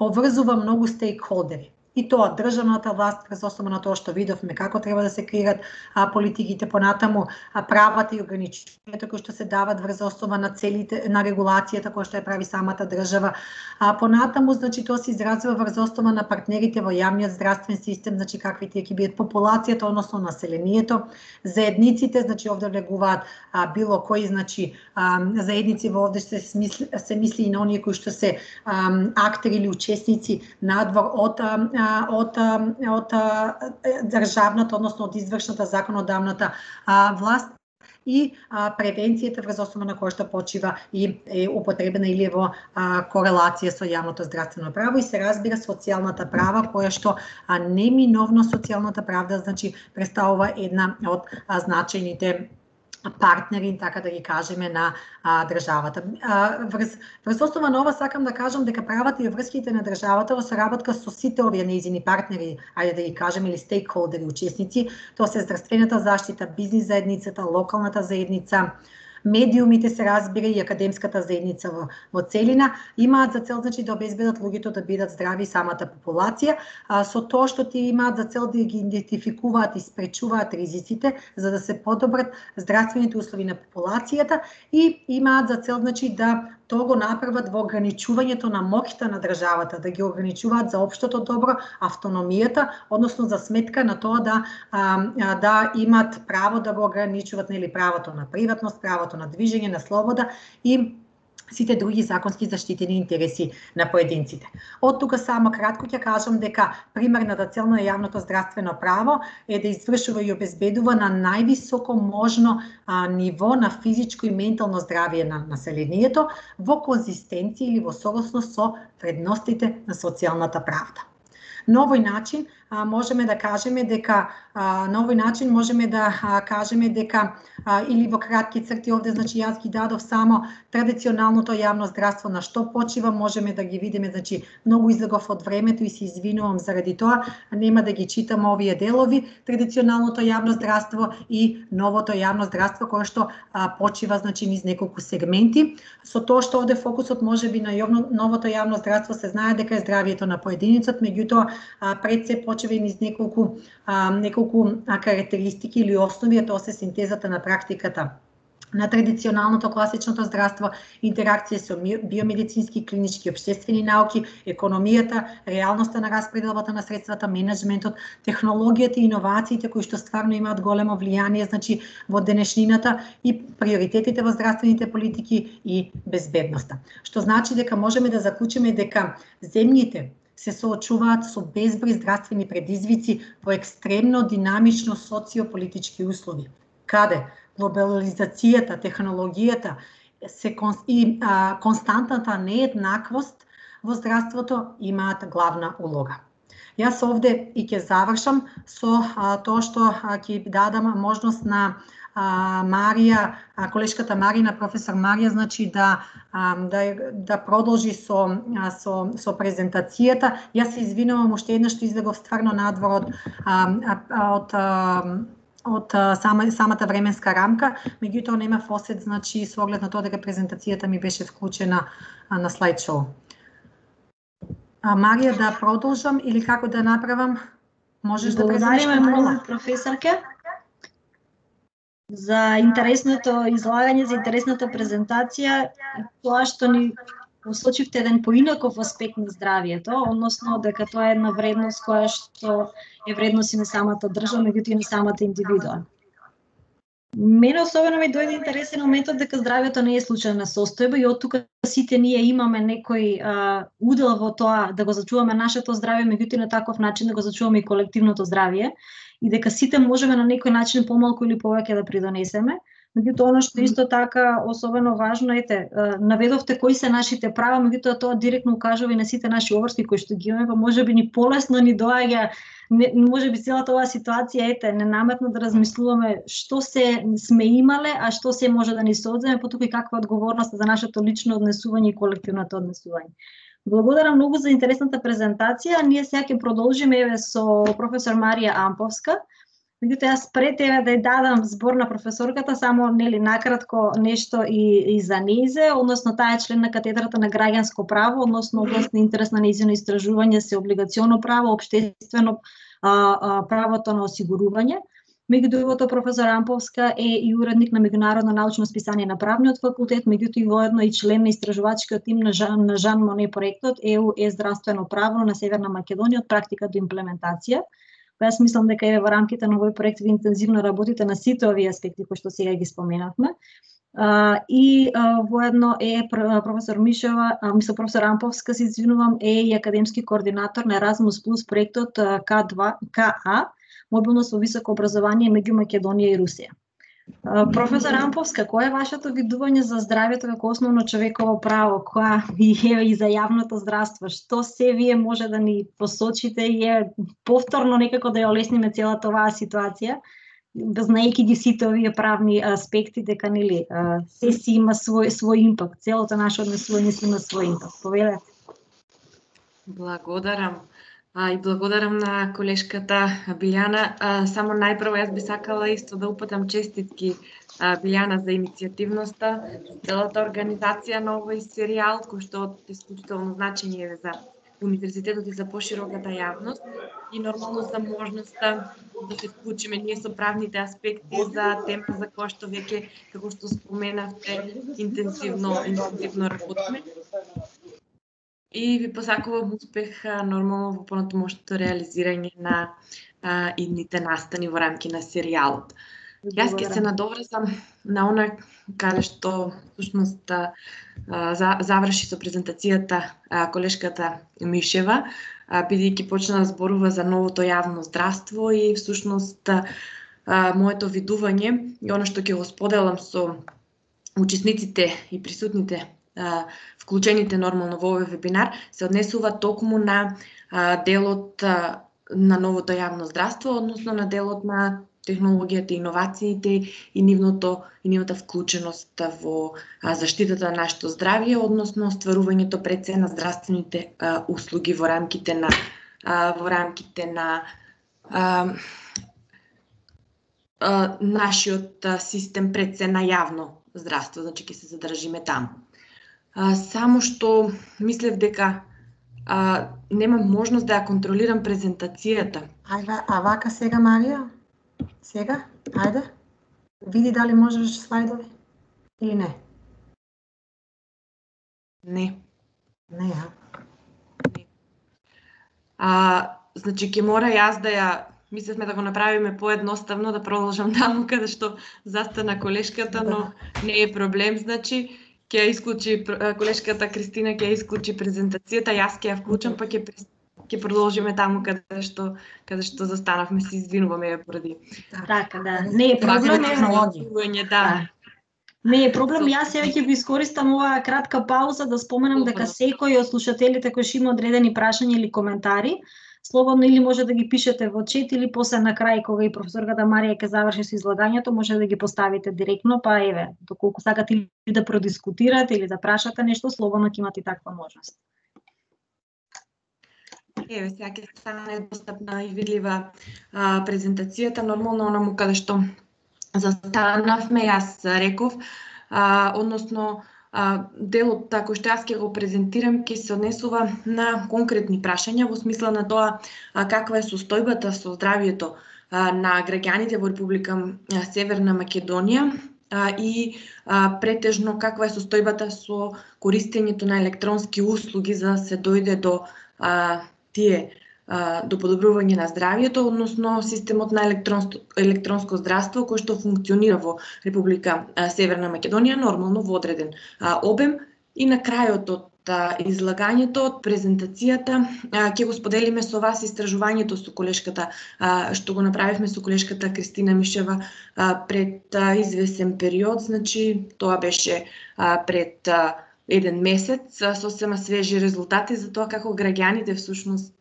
поврзува многу стейкхолдери. И тоа државната власт, врз основа на тоа што видовме како треба да се креират а, политиките, понатаму а, правата и ограниченијата кои што се дават врз основа на целите на регулацијата која што ја прави самата држава. А понатаму, значи, тоа се изразува врз основа на партнерите во јавниот здравствен систем, значи какви ќе бидат популацијата, односно населението, заедниците, значи овде влегуваат а, било кои, значи а, заедници во овде се мисли, се мисли и на оние кои што се а, актери или учесници надвор од а, од од државната, односно од извршната законодавната а, власт и а, превенцијата врз основа на која што почива и е употребена или е во а, корелација со јавното здравствено право и се разбира социјалната права, која што а, неминовно социјалната правда, значи, представува една од а, значајните партнери, така да ги кажеме, на а, државата. А, врз, врз основа на ова сакам да кажам дека правата и врските на државата во соработка со сите овие нејзини партнери, ајде да ги кажеме, или стейкхолдери, учесници, тоа се здравствената заштита, бизнис заедницата, локалната заедница, медиумите се разбира и академската заедница во, во целина имаат за цел значи да обезбедат луѓето да бидат здрави и самата популација, а, со тоа што ти имаат за цел да ги идентификуваат и спречуваат ризиците за да се подобрат здравствените услови на популацијата и имаат за цел значи да тоа го направат во ограничувањето на моќта на државата, да ги ограничуваат за општото добро, автономијата, односно за сметка на тоа да а, да имат право да го ограничуваат нели правото на приватност, правото на движење, на слобода и сите други законски заштитени интереси на поединците. Од тука само кратко ќе кажам дека примерната цел на јавното здравствено право е да извршува и обезбедува на највисоко можно а, ниво на физичко и ментално здравје на населението во конзистенција или во согласност со вредностите на социјалната правда. На овој начин а, можеме да кажеме дека а, на овој начин можеме да а, кажеме дека а, или во кратки црти овде значи јас ги дадов само традиционалното јавно здравство на што почива, можеме да ги видиме, значи многу излегов од времето и се извинувам заради тоа, нема да ги читам овие делови, традиционалното јавно здравство и новото јавно здравство кое што а, почива значи низ неколку сегменти. Со тоа што овде фокусот можеби на јавно, новото јавно здравство се знае дека е здравјето на поединецот, меѓутоа пред се почива и низ неколку а, неколку а, карактеристики или основи, а тоа се синтезата на практиката на традиционалното класичното здравство, интеракција со биомедицински, клинички, општествени науки, економијата, реалноста на распределбата на средствата, менеджментот, технологијата и иновациите кои што стварно имаат големо влијание значи во денешнината и приоритетите во здравствените политики и безбедноста. Што значи дека можеме да заклучиме дека земјите се соочуваат со безброј здравствени предизвици во екстремно динамично социополитички услови, каде глобализацијата, технологијата се и а, константната нееднаквост во здравството имаат главна улога. Јас овде и ќе завршам со а, тоа што ќе дадам можност на а, Марија, а, колешката Марина, професор Марија, значи да а, да да продолжи со а, со со презентацијата. Јас се извинувам уште еднаш што излегов стварно надвор од а, а, од а, од сама, самата временска рамка, меѓутоа нема фосет, значи со оглед на тоа дека презентацијата ми беше вклучена а, на слайд шоу. А, Марија, да продолжам или како да направам? Можеш да презентираш? Благодариме многу, професорке, за интересното излагање, за интересната презентација, тоа што ни посочивте еден поинаков аспект на здравието, односно дека тоа е една вредност која што е вредност и на самата држава, меѓутоа и на самата индивидуа. Мене особено ми дојде интересен моментот дека здравието не е случајна состојба и од тука сите ние имаме некој а, удел во тоа да го зачуваме нашето здравје, меѓутоа на таков начин да го зачуваме и колективното здравје и дека сите можеме на некој начин помалку или повеќе да придонесеме. Меѓутоа, оно што исто така особено важно, ете, наведовте кои се нашите права, меѓутоа тоа директно укажува и на сите наши обврски кои што ги имаме, па можеби ни полесно ни доаѓа, можеби целата оваа ситуација, ете, ненаметно да размислуваме што се сме имале, а што се може да ни се одземе, потоа и каква одговорност за нашето лично однесување и колективното однесување. Благодарам многу за интересната презентација. Ние сега ќе продолжиме еве со професор Марија Амповска. Меѓутоа, јас пред тебе да ја дадам збор на професорката, само нели накратко нешто и, и за нејзе, односно таа е член на катедрата на граѓанско право, односно област на интерес на нејзино истражување се облигационо право, општествено а, а, правото на осигурување. Меѓу другото, професор Амповска е и уредник на меѓународно научно списание на правниот факултет, меѓутоа и воедно и член на истражувачкиот тим на Жан, на Жан Моне проектот Е У Е здравствено право на Северна Македонија од практика до имплементација. Јас мислам дека е во рамките на овој проект ви интензивно работите на сите овие аспекти кои што сега ги споменавме. Uh, и uh, воедно е професор Мишева, uh, мисля професор Амповска, се извинувам, е и академски координатор на Еразмус плюс проектот uh, К два К А, мобилност во високо образование меѓу Македонија и Русија. Uh, професор Амповска, кое е вашето видување за здравјето како основно човеково право, која е и за јавното здравство? Што се вие може да ни посочите и е повторно некако да ја олесниме целата оваа ситуација, знаејќи ги сите овие правни аспекти, дека нели се си има свој свој импакт, целото наше однесување си има свој импакт. Повелете. Благодарам. А, и благодарам на колешката Билјана. А, само најпрво јас би сакала исто да упатам честитки а, Билјана за иницијативноста, целата организација на овој серијал, кој што од исклучително значење е за универзитетот и за пошироката јавност и нормално за можноста да се вклучиме ние со правните аспекти за тема за која што веќе, како што споменавте, интензивно, интензивно работиме. И ви посакувам успех нормално во понатамошното реализирање на а, идните настани во рамки на серијалот. Јас ќе се надоврзам на она каде што всушност а, за, заврши со презентацијата а, колешката Мишева, а, бидејќи почна да зборува за новото јавно здравство и всушност а, моето видување и она што ќе го споделам со учесниците и присутните вклучените нормално во овој вебинар се однесува токму на а, делот а, на новото јавно здравство, односно на делот на технологијата, иновациите и нивното и нивната вклученост во а, заштитата на нашето здравје, односно остварувањето пред се на здравствените а, услуги во рамките на а, во рамките на а, а, нашиот а, систем пред се на јавно здравство, значи ќе се задржиме таму. А, само што мислев дека а, немам можност да ја контролирам презентацијата. Ајде, а вака сега, Марија? Сега? Ајде. Види дали можеш слайдови или не. Не. Не, а? Не. А, значи ќе мора јас да ја мислевме да го направиме поедноставно, да продолжам таму каде што застана колешката, но не е проблем, значи ќе ја исклучи колешката Кристина, ќе ја исклучи презентацијата, јас ќе ја вклучам, па ќе ќе продолжиме таму каде што каде што застанавме, се извинуваме поради. Така, да, не е проблем, технологија, да. Не е проблем, јас сега ќе ви искористам оваа кратка пауза да споменам дека секој од слушателите кои што има одредени прашања или коментари, слободно или може да ги пишете во чет или после на крај кога и професорката Марија ќе заврши со излагањето, може да ги поставите директно, па еве, доколку сакате или да продискутирате или да прашате нешто, слободно ќе имате таква можност. Еве, сега ќе стане достапна и видлива а, презентацијата, нормално онаму каде што застанавме, јас реков, а, односно а, делот кој што јас ќе го презентирам ќе се однесува на конкретни прашања во смисла на тоа а, каква е состојбата со здравјето а, на граѓаните во Република а, Северна Македонија а, и а, претежно каква е состојбата со користењето на електронски услуги за да се дојде до а, тие до подобрување на здравјето, односно системот на електронско, електронско здравство кој што функционира во Република Северна Македонија, нормално во одреден обем. И на крајот од излагањето, од презентацијата, ќе го споделиме со вас истражувањето со колешката, што го направивме со колешката Кристина Мишева пред извесен период, значи тоа беше пред еден месец, сосема свежи резултати за тоа како граѓаните всушност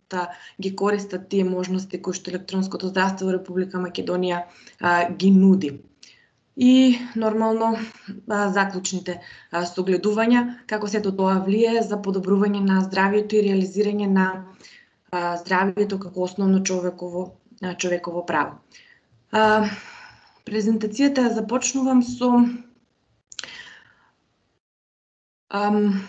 ги користат тие можности кои што електронското здравство во Република Македонија а, ги нуди. И нормално а, заклучните а, согледувања како сето тоа влие за подобрување на здравјето и реализирање на а, здравјето како основно човеково а, човеково право. А, презентацијата ја започнувам со ам,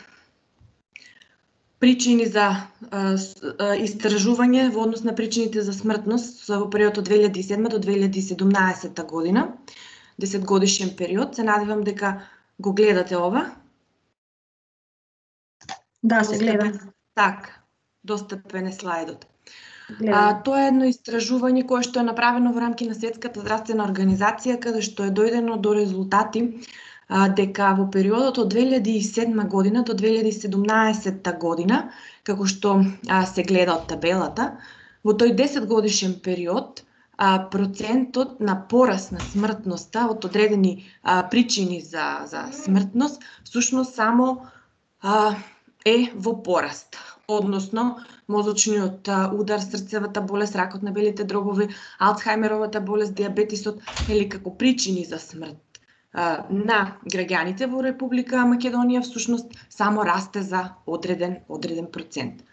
причини за а, а, истражување во однос на причините за смртност во период од две илјади и седма до две илјади и седумнаесетта година, десетгодишен период. Се надевам дека го гледате ова. Да, се гледа. Така, достапен е слайдот. А, тоа е едно истражување кое што е направено во рамки на Светската здравствена организација, каде што е дојдено до резултати дека во периодот од две илјади и седма година до две илјади и седумнаесетта година, како што а, се гледа од табелата, во тој десетгодишен период а, процентот на пораст на смртноста од одредени а, причини за, за смртност, всушност само а, е во пораст. Односно, мозочниот а, удар, срцевата болест, ракот на белите дробови, Алцхајмеровата болест, диабетисот, или како причини за смрт на граѓаните во Република Македонија всушност само расте за одреден одреден процент.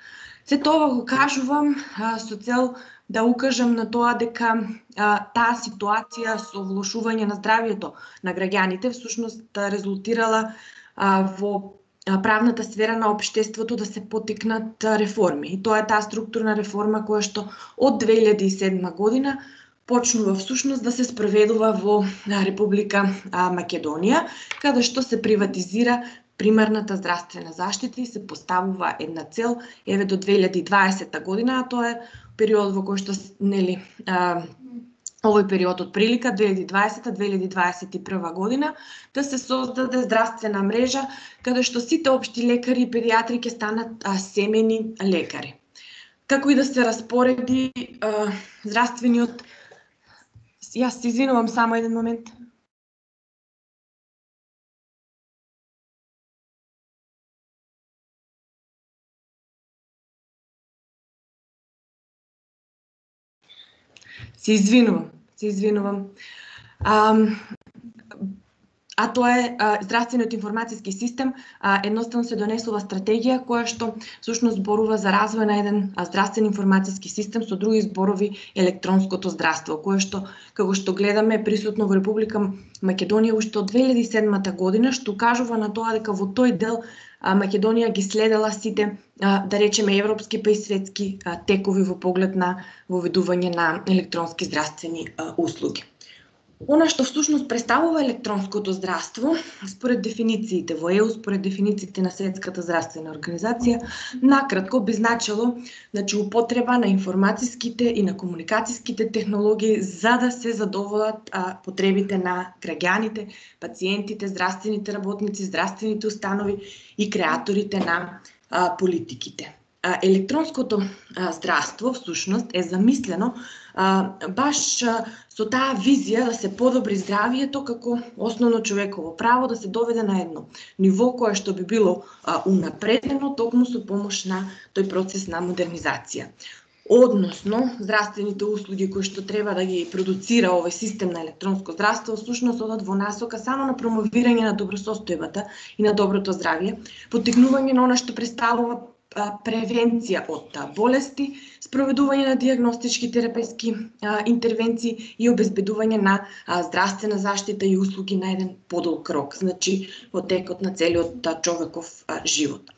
Се тоа го кажувам а, со цел да укажам на тоа дека а, таа ситуација со влошување на здравјето на граѓаните всушност резултирала а, во правната сфера на општеството да се потикнат реформи. И тоа е таа структурна реформа која што од две илјади и седма година почнува всушност да се спроведува во Република Македонија, каде што се приватизира примарната здравствена заштита и се поставува една цел еве до две илјади и дваесета година, а тоа е период во кој што нели а, овој период од прилика две илјади и дваесета до две илјади дваесет и прва година да се создаде здравствена мрежа каде што сите општи лекари и педиатри ќе станат а, семени лекари. Како и да се распореди а, здравствениот. Јас се извинувам, само еден момент. Се извинувам, се извинувам. А, а тоа е а, здравствениот информацијски систем, а, едноставно се донесува стратегија која што всушност зборува за развој на еден а, здравствен информацијски систем, со други зборови електронското здравство, кое што, како што гледаме, е присутно во Република Македонија уште од две илјади и седмата година, што кажува на тоа дека во тој дел а, Македонија ги следела сите, а, да речеме, европски па и светски а, текови во поглед на воведување на електронски здравствени а, услуги. Она што всушност представува електронското здравство, според дефинициите во ЕУ, според дефинициите на Светската здравствена организација, накратко би значило, значи, употреба на информатиските и на комуникацијските технологии за да се задоволат а, потребите на граѓаните, пациентите, здравствените работници, здравствените установи и креаторите на а, политиките. А, електронското а, здравство всушност е замислено а, баш а, со таа визија да се подобри здравието како основно човеково право, да се доведе на едно ниво кое што би било а, унапредено токму со помош на тој процес на модернизација. Односно, здравствените услуги кои што треба да ги продуцира овој систем на електронско здравство, всушност одат во насока само на промовирање на добросостојбата и на доброто здравје, поттикнување на она што представува превенција од болести, спроведување на дијагностички терапевтски интервенции и обезбедување на а, здравствена заштита и услуги на еден подолг рок, значи во текот на целиот а, човеков а, живот.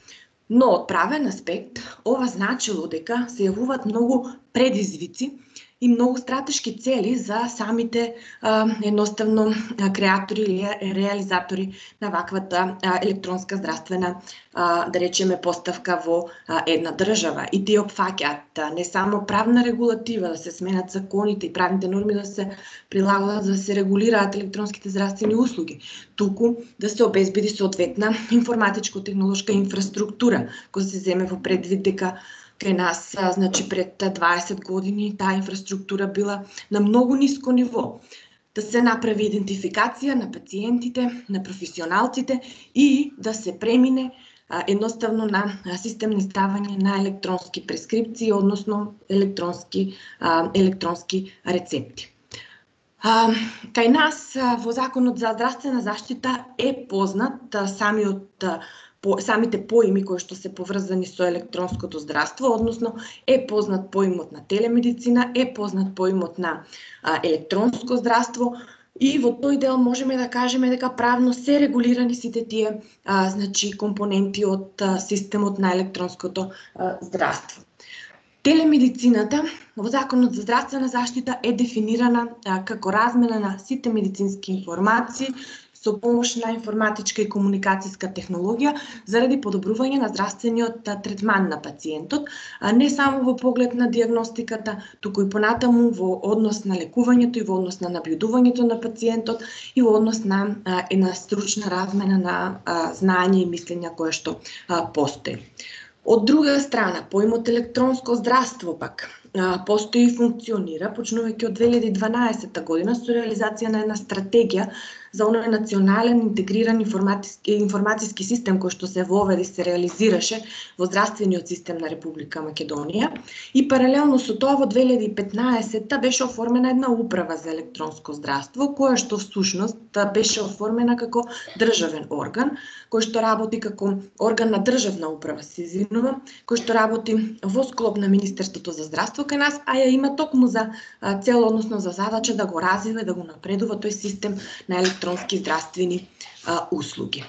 Но од правен аспект, ова значило дека се јавуваат многу предизвици и многу стратешки цели за самите а, едноставно а, креатори или реализатори на ваквата а, електронска здравствена, а, да речеме, поставка во а, една држава. И тие опфаќаат не само правна регулатива, да се сменат законите и правните норми да се прилагаат, да се регулираат електронските здравствени услуги, туку да се обезбеди соодветна информатичко-технолошка инфраструктура, која се земе во предвид дека кај нас, значи, пред дваесет години таа инфраструктура била на многу ниско ниво. Да се направи идентификација на пациентите, на професионалците и да се премине а, едноставно на системно издавање на електронски прескрипции, односно електронски, а, електронски рецепти. А, кај нас а, во Законот за здравствена заштита е познат а, самиот а, По, самите поими кои што се поврзани со електронското здравство, односно е познат поимот на телемедицина, е познат поимот на а, електронско здравство и во тој дел можеме да кажеме дека правно се регулирани сите тие а, значи компоненти од а, системот на електронското а, здравство. Телемедицината во Законот за здравствена заштита е дефинирана а, како размена на сите медицински информации со помош на информатичка и комуникацијска технологија заради подобрување на здравствениот третман на пациентот, а не само во поглед на дијагностиката, туку и понатаму во однос на лекувањето и во однос на набљудувањето на пациентот и во однос на а, една стручна размена на а, знаење и мислења кое што а, постои. Од друга страна, поимот електронско здравство пак а, постои и функционира, почнувајќи од две илјади и дванаесета година со реализација на една стратегија за оној национален интегриран информатиски, информацијски систем кој што се воведе и се реализираше во здравствениот систем на Република Македонија. И паралелно со тоа во две илјади и петнаесетта беше оформена една управа за електронско здравство, која што всушност беше оформена како државен орган, кој што работи како орган на државна управа, се извинувам, кој што работи во склоп на Министерството за здравство кај нас, а ја има токму за цел, односно за задача да го развива и да го напредува тој систем на електронски здравствени а, услуги.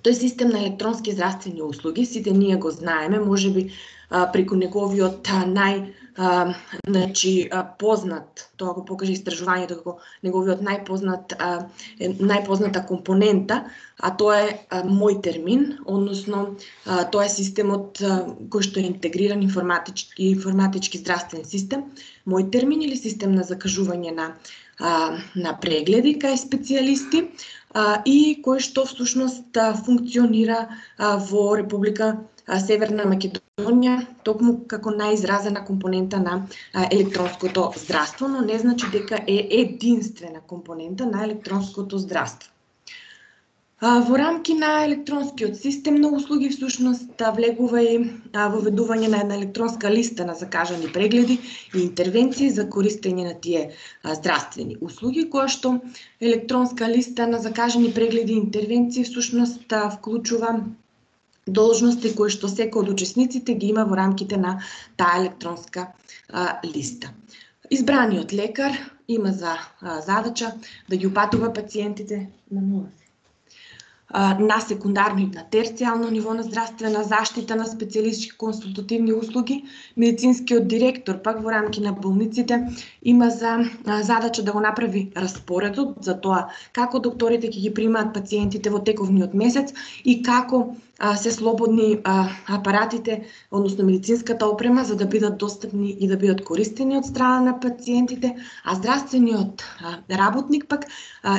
Тој систем на електронски здравствени услуги, сите ние го знаеме, можеби преку неговиот нај а, значи, а, познат, тоа го покаже истражувањето како неговиот најпознат а, најпозната компонента, а тоа е а, мој термин, односно а, тоа е системот а, кој што е интегриран информатички информатички здравствен систем, мој термин или систем на закажување на а, на прегледи кај специјалисти а, и кој што всушност а, функционира а, во Република Северна Македонија токму како најизразена компонента на електронското здравство, но не значи дека е единствена компонента на електронското здравство. Во рамки на електронскиот систем на услуги всушност влегува и воведување на една електронска листа на закажани прегледи и интервенции за користење на тие здравствени услуги, која што електронска листа на закажани прегледи и интервенции всушност вклучува должности кои што секој од учесниците ги има во рамките на таа електронска а, листа. Избраниот лекар има за а, задача да ги упатува пациентите на нула на секундарно и на терцијално ниво на здравствена заштита на специјалистички консултативни услуги. Медицинскиот директор пак во рамки на болниците има за задача да го направи распоредот за тоа како докторите ќе ги примаат пациентите во тековниот месец и како се слободни апаратите, односно медицинската опрема, за да бидат достапни и да бидат користени од страна на пациентите, а здравствениот работник пак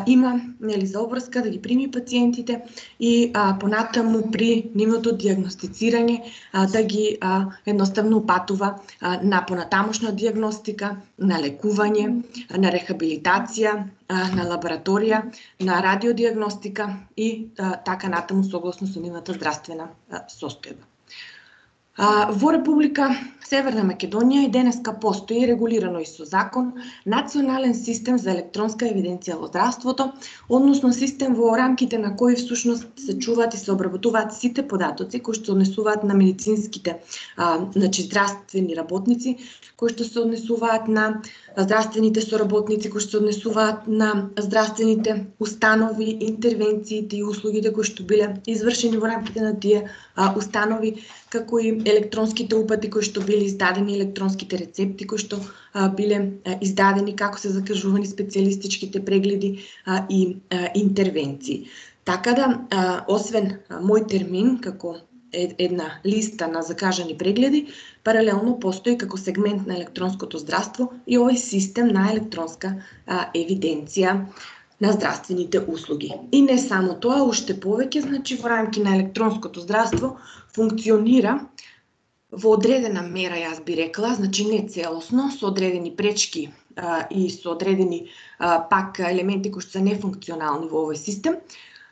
има нели за обврска да ги прими пациентите и понатаму при нивното дијагностицирање да ги едноставно упатува на понатамошна дијагностика, на лекување, на рехабилитација, на лабораторија, на радиодијагностика и а, така натаму согласно со нивната здравствена а, состојба. А, во Република Северна Македонија и денеска постои регулирано и со закон национален систем за електронска евиденција во здравството, односно систем во рамките на кој всушност се чуваат и се обработуваат сите податоци кои што се однесуваат на медицинските а, значи здравствени работници, кои што се однесуваат на здравствените соработници, кои што се однесуваат на здравствените установи, интервенциите и услугите кои што биле извршени во рамките на тие а, установи, како и електронските упати кои што биле издадени, електронските рецепти кои што а, биле а, издадени, како се закажувани специјалистичките прегледи а, и а, интервенции. Така да, а, освен а, мој термин како една листа на закажани прегледи, паралелно постои како сегмент на електронското здравство и овој систем на електронска а, евиденција на здравствените услуги. И не само тоа, уште повеќе, значи во рамки на електронското здравство функционира во одредена мера, јас би рекла, значи не целосно, со одредени пречки а, и со одредени а, пак елементи кои што се нефункционални во овој систем,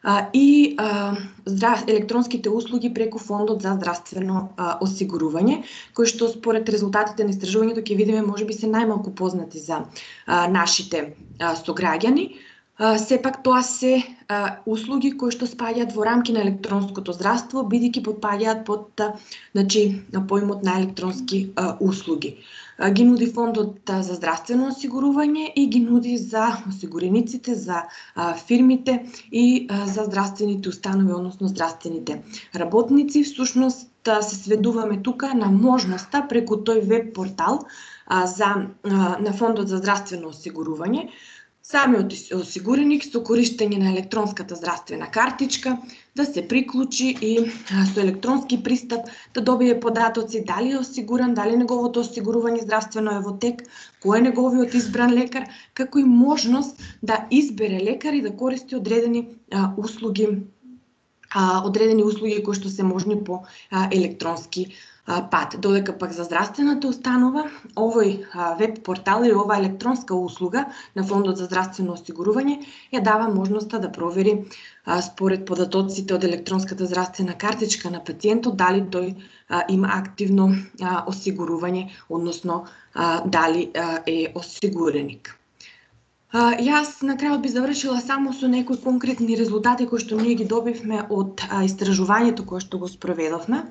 а, и а, здрав... електронските услуги преку Фондот за здравствено а, осигурување, кои што според резултатите на истражувањето ќе видиме можеби се најмалку познати за а, нашите а, сограѓани. Uh, сепак тоа се uh, услуги кои што спаѓаат во рамки на електронското здравство, бидејќи подпаѓаат под uh, значи, на поимот на електронски uh, услуги. Uh, ги нуди Фондот uh, за здравствено осигурување и ги нуди за осигурениците, за uh, фирмите и uh, за здравствените установи, односно здравствените работници. Всушност uh, се сведуваме тука на можноста преку тој веб портал uh, за, uh, на Фондот за здравствено осигурување, самиот осигуреник со користење на електронската здравствена картичка да се приклучи и со електронски пристап да добие податоци дали е осигуран, дали неговото осигурување здравствено е во тек, кој е неговиот избран лекар, како и можност да избере лекар и да користи одредени а, услуги, а, одредени услуги кои што се можни по а, електронски пат, додека пак за здравствената установа овој веб портал и ова електронска услуга на Фондот за здравствено осигурување ја дава можноста да провери според податоците од електронската здравствена картичка на пациентот дали тој има активно осигурување, односно дали е осигуреник. Јас на крајот би завршила само со некои конкретни резултати кои што ние ги добивме од истражувањето кое што го спроведовме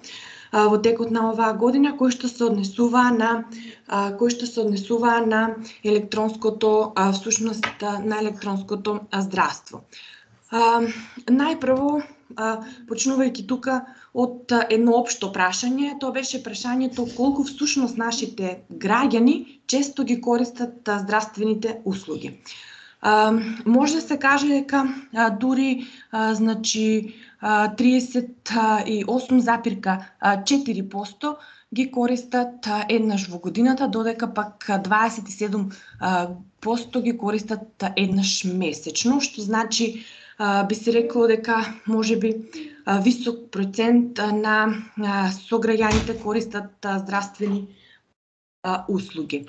во текот на оваа година, кој што се однесува на кој што се однесува на електронското всушност на електронското здравство. Најпрво, почнувајќи тука од едно општо прашање, тоа беше прашањето колку всушност нашите граѓани често ги користат здравствените услуги. Може да се каже дека дури значи триесет и осум запирка четири проценти ги користат еднаш во годината, додека пак дваесет и седум проценти ги користат еднаш месечно, што значи би се рекло дека можеби висок процент на сограѓаните користат здравствени услуги.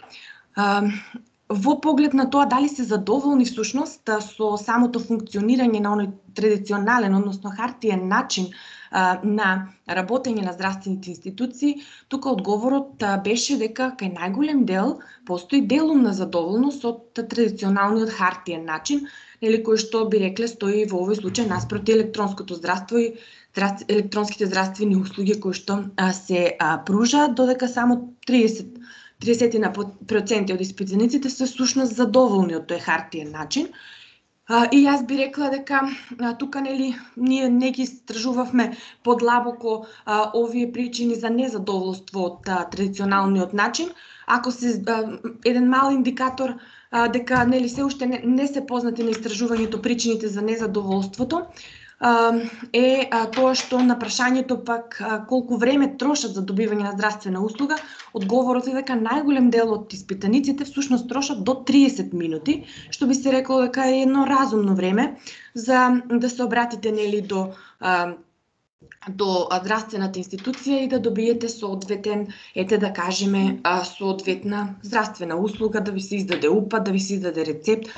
Во поглед на тоа дали се задоволни всушност со самото функционирање на оној традиционален, односно хартиен начин на работење на здравствените институции, тука одговорот беше дека кај најголем дел постои делумна задоволност од традиционалниот хартиен начин, или кој што би рекле стои во овој случај наспроти електронското здравство и електронските здравствени услуги кои што се пружаат, додека само триесет проценти од испитаниците се всушност задоволни од тој хартиен начин. И јас би рекла дека тука нели ние не ги истражувавме подлабоко овие причини за незадоволство од традиционалниот начин. Ако се еден мал индикатор дека нели се уште не, не се познати на истражувањето причините за незадоволството, е тоа што на прашањето пак колку време трошат за добивање на здравствена услуга, одговорот е дека најголем дел од испитаниците всушност трошат до триесет минути, што би се рекло дека е едно разумно време за да се обратите нели до до здравствената институција и да добиете соодветен, ете да кажеме, соодветна здравствена услуга, да ви се издаде упат, да ви се издаде рецепт,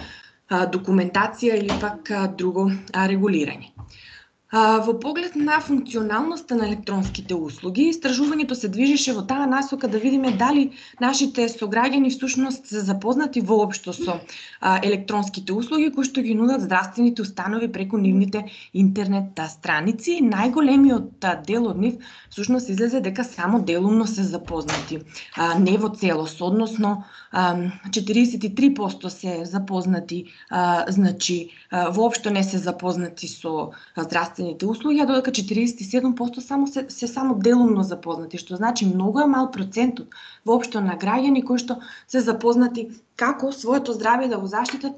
документација или пак друго регулирање. Во поглед на функционалноста на електронските услуги, истражувањето се движеше во таа насока да видиме дали нашите сограѓани всушност се запознати воопшто со електронските услуги кои што ги нудат здравствените установи преку нивните интернет страници. Најголемиот дел од нив всушност излезе дека само делумно се запознати, не во целост, односно четириесет и три проценти се запознати, значи воопшто не се запознати со здравствените услуги, а додека четириесет и седум проценти само се, се само делумно запознати, што значи многу е мал процентот воопшто на граѓани кои што се запознати како своето здравје да го заштитат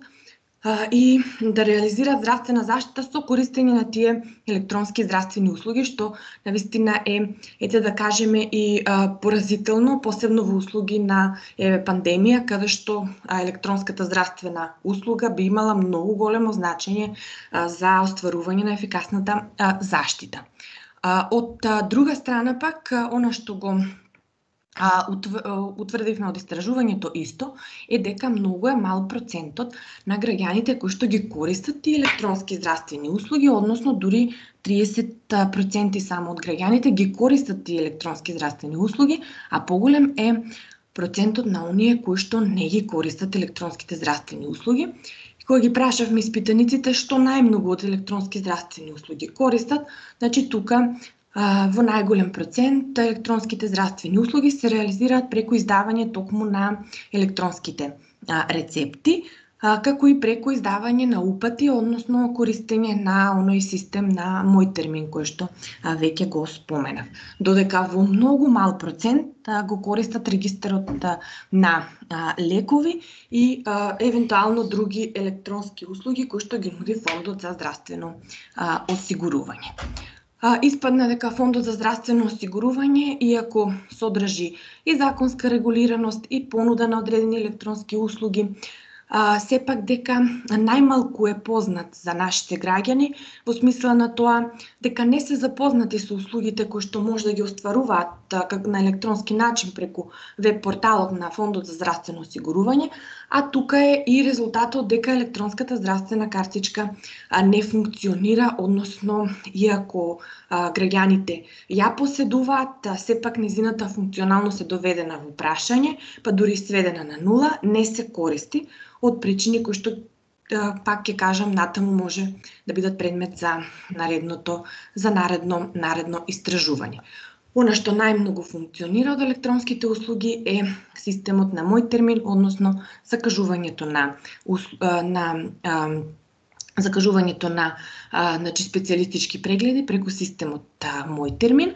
а, и да реализираат здравствена заштита со користење на тие електронски здравствени услуги, што навистина е, ете да кажеме, и а, поразително, посебно во услуги на е, пандемија, каде што а, електронската здравствена услуга би имала многу големо значење а, за остварување на ефикасната а, заштита. А, од а, друга страна пак, а, она што го А, утврдивме од истражувањето исто е дека многу е мал процентот на граѓаните кои што ги користат и електронски здравствени услуги, односно дури триесет проценти само од граѓаните ги користат и електронски здравствени услуги, а поголем е процентот на оние кои што не ги користат електронските здравствени услуги. Кога ги прашавме испитаниците што најмногу од електронски здравствени услуги користат, значи тука во најголем процент електронските здравствени услуги се реализираат преку издавање токму на електронските рецепти, како и преку издавање на упати, односно користење на оној систем на мој термин кој што веќе го споменав. Додека во многу мал процент го користат регистарот на лекови и евентуално други електронски услуги кои што ги нуди Фондот за здравствено осигурување. Испадна дека Фондот за здравствено осигурување, иако содржи и законска регулираност и понуда на одредени електронски услуги, а, сепак дека најмалку е познат за нашите граѓани, во смисла на тоа дека не се запознати со услугите кои што може да ги остваруваат а, как, на електронски начин преку веб порталот на Фондот за здравствено осигурување, а тука е и резултатот дека електронската здравствена картичка а, не функционира, односно иако а, граѓаните ја поседуваат, а, сепак незината функционалност е доведена во прашање, па дури сведена на нула, не се користи од причини кои што пак ќе кажам натаму може да бидат предмет за наредното за наредно наредно истражување. Она што најмногу функционира од електронските услуги е системот на Мој термин, односно закажувањето на на а, закажувањето на а, значи специјалистички прегледи преку системот а, Мој термин,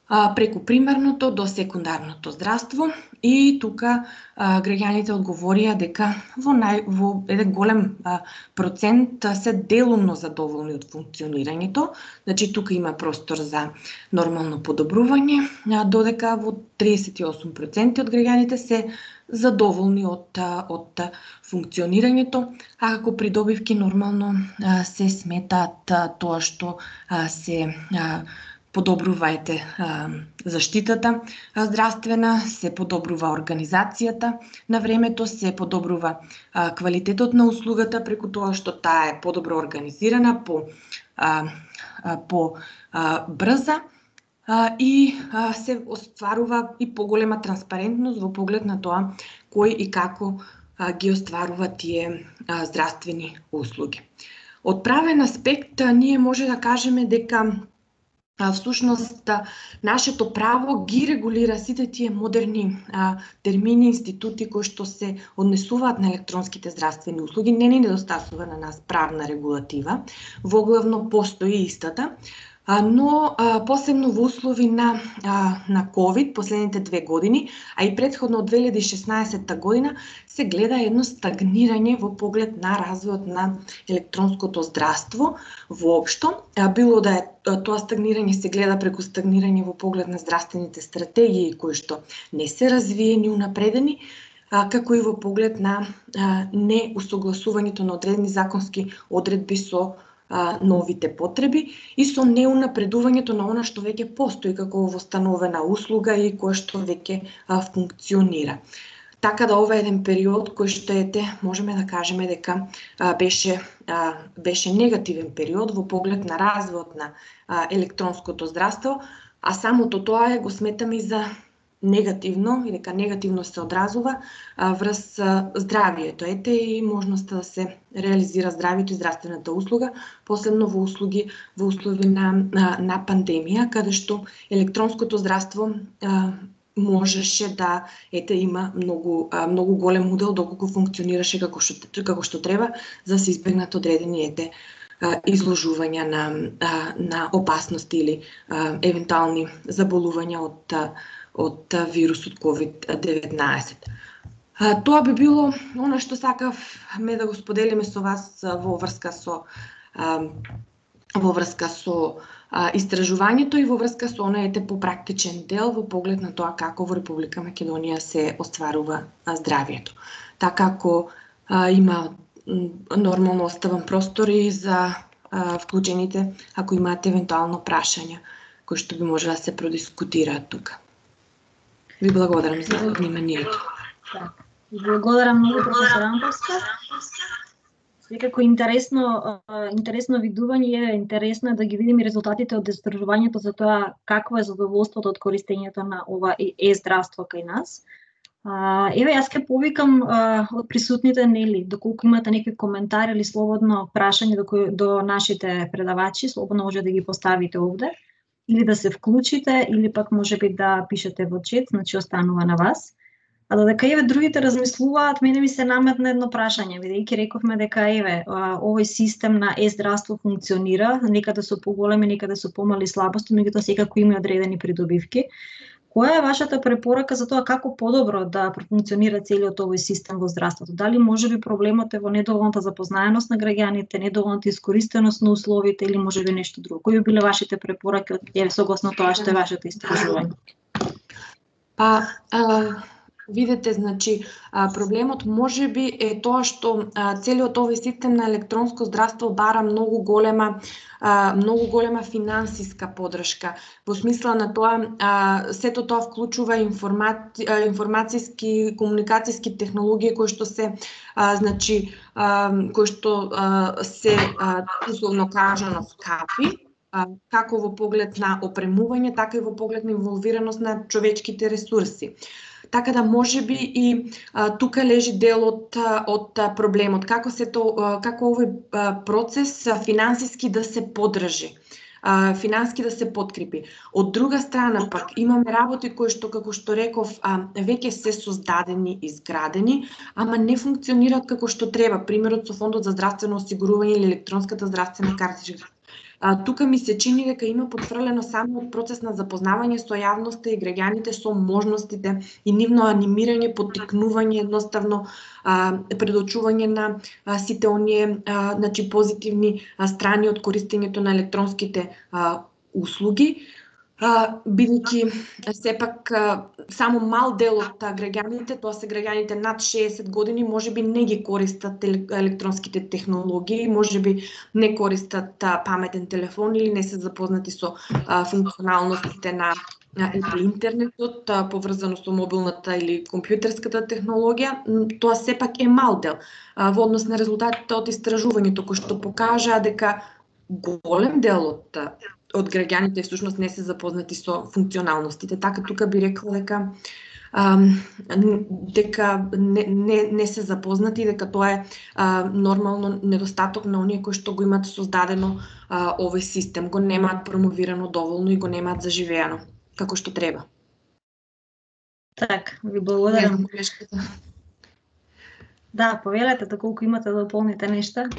а, преку примарното до секундарното здравство, и тука а, граѓаните одговорија дека во нај во еден голем а, процент а, се делумно задоволни од функционирањето. Значи тука има простор за нормално подобрување, а, додека во триесет и осум проценти од граѓаните се задоволни од од функционирањето, а како придобивки нормално а, се сметаат а, тоа што а, се а, подобрувајте заштитата здравствена, се подобрува организацијата на времето, се подобрува а, квалитетот на услугата преку тоа што таа е подобро организирана, по а, а, по а, брза а, и а, се остварува и поголема транспарентност во поглед на тоа кој и како а, ги остварува тие а, здравствени услуги. Од правен аспект а, ние може да кажеме дека всушност нашето право ги регулира сите тие модерни а, термини, институти кои што се однесуваат на електронските здравствени услуги. Не ни недостасува на нас правна регулатива, воглавно постои истата, а, но а, посебно во услови на, а, на ковид последните две години, а и предходно од две илјади и шеснаесетта година, се гледа едно стагнирање во поглед на развојот на електронското здравство воопшто. Било да е тоа стагнирање се гледа преку стагнирање во поглед на здравствените стратегии кои што не се развиени, унапредени, како и во поглед на неусогласувањето на одредени законски одредби со новите потреби и со неунапредувањето на она што веќе постои како востановена услуга и која што веќе функционира. Така да ова е еден период кој што ете, можеме да кажеме дека а, беше а, беше негативен период во поглед на развојот на а, електронското здравство, а самото тоа е го сметаме и за негативно и дека негативно се одразува а, врз а, здравието. Ете и можноста да се реализира здравието и здравствената услуга, посебно во услуги во услови на, на, на пандемија, каде што електронското здравство а, можеше да ете има многу многу голем удел доколку функционираше како што како што треба за да се избегнат одредени ете изложувања на на опасности или евентуални заболувања од од вирусот ковид деветнаесет. Тоа би било она што сакавме да го споделиме со вас во врска со во врска со а, истражувањето и во врска со онаете попрактичен дел во поглед на тоа како во Република Македонија се остварува а, здравието. Така ако а, има нормално оставам простори за а, вклучените ако имаат евентуално прашања кои што би може да се продискутираат тука. Ви благодарам за вниманието. Благодарам многу, професор Амбовска. Секако интересно, интересно видување, интересно е да ги видиме резултатите од истражувањето за тоа какво е задоволството од користењето на ова е-здравство кај нас. Еве, јас ќе повикам од присутните, нели, доколку имате некои коментари или слободно прашање до, кој, до нашите предавачи, слободно може да ги поставите овде, или да се вклучите, или пак може би да пишете во чет, значи останува на вас. А додека еве другите размислуваат, мене ми се наметна едно прашање, бидејќи рековме дека еве овој систем на е-здравство функционира, некаде со поголеми, некаде со помали слабости, меѓутоа секако има одредени придобивки. Која е вашата препорака за тоа како подобро да профункционира целиот овој систем во здравството? Дали можеби проблемот е во недоволната запознаеност на граѓаните, недоволната искористеност на условите или можеби нешто друго? Кои би биле вашите препораки од еве согласно тоа што е вашето истражување? Па, а... видите, значи, проблемот можеби е тоа што целиот овој систем на електронско здравство бара многу голема многу голема финансиска поддршка. Во смисла на тоа, сето тоа вклучува информаци, информацијски, комуникацијски технологии кои што се значи кои што се условно кажано скапи, како во поглед на опремување, така и во поглед на инволвираност на човечките ресурси. Така да можеби и а, тука лежи дел од, од проблемот, како се то, како овој процес финансиски да се поддржи, а, финански да се подкрепи. Од друга страна пак имаме работи кои што, како што реков, а, веќе се создадени, изградени, ама не функционираат како што треба. Примерот со Фондот за здравствено осигурување или електронската здравствена картичка. А, тука ми се чини дека има потфрлено само од процес на запознавање со јавноста и граѓаните со можностите и нивно анимирање, поттикнување, едноставно а, предочување на а, сите оние а, значи, позитивни а, страни од користењето на електронските а, услуги. Uh, бидејќи сепак uh, само мал дел од граѓаните, тоа се граѓаните над шеесет години, можеби не ги користат електронските технологии, можеби не користат uh, паметен телефон или не се запознати со uh, функционалностите на uh, интернетот, uh, поврзано со мобилната или компјутерската технологија. Тоа сепак е мал дел uh, во однос на резултатите од истражувањето, кои што покажаа дека голем дел од од граѓаните всушност не се запознати со функционалностите. Така тука би рекла дека а, дека не, не, не се запознати, дека тоа е а, нормално недостаток на оние кои што го имаат создадено а, овој систем, го немаат промовирано доволно и го немаат заживеано како што треба. Так, ви благодарам. Да, повелете доколку имате да дополните нешта.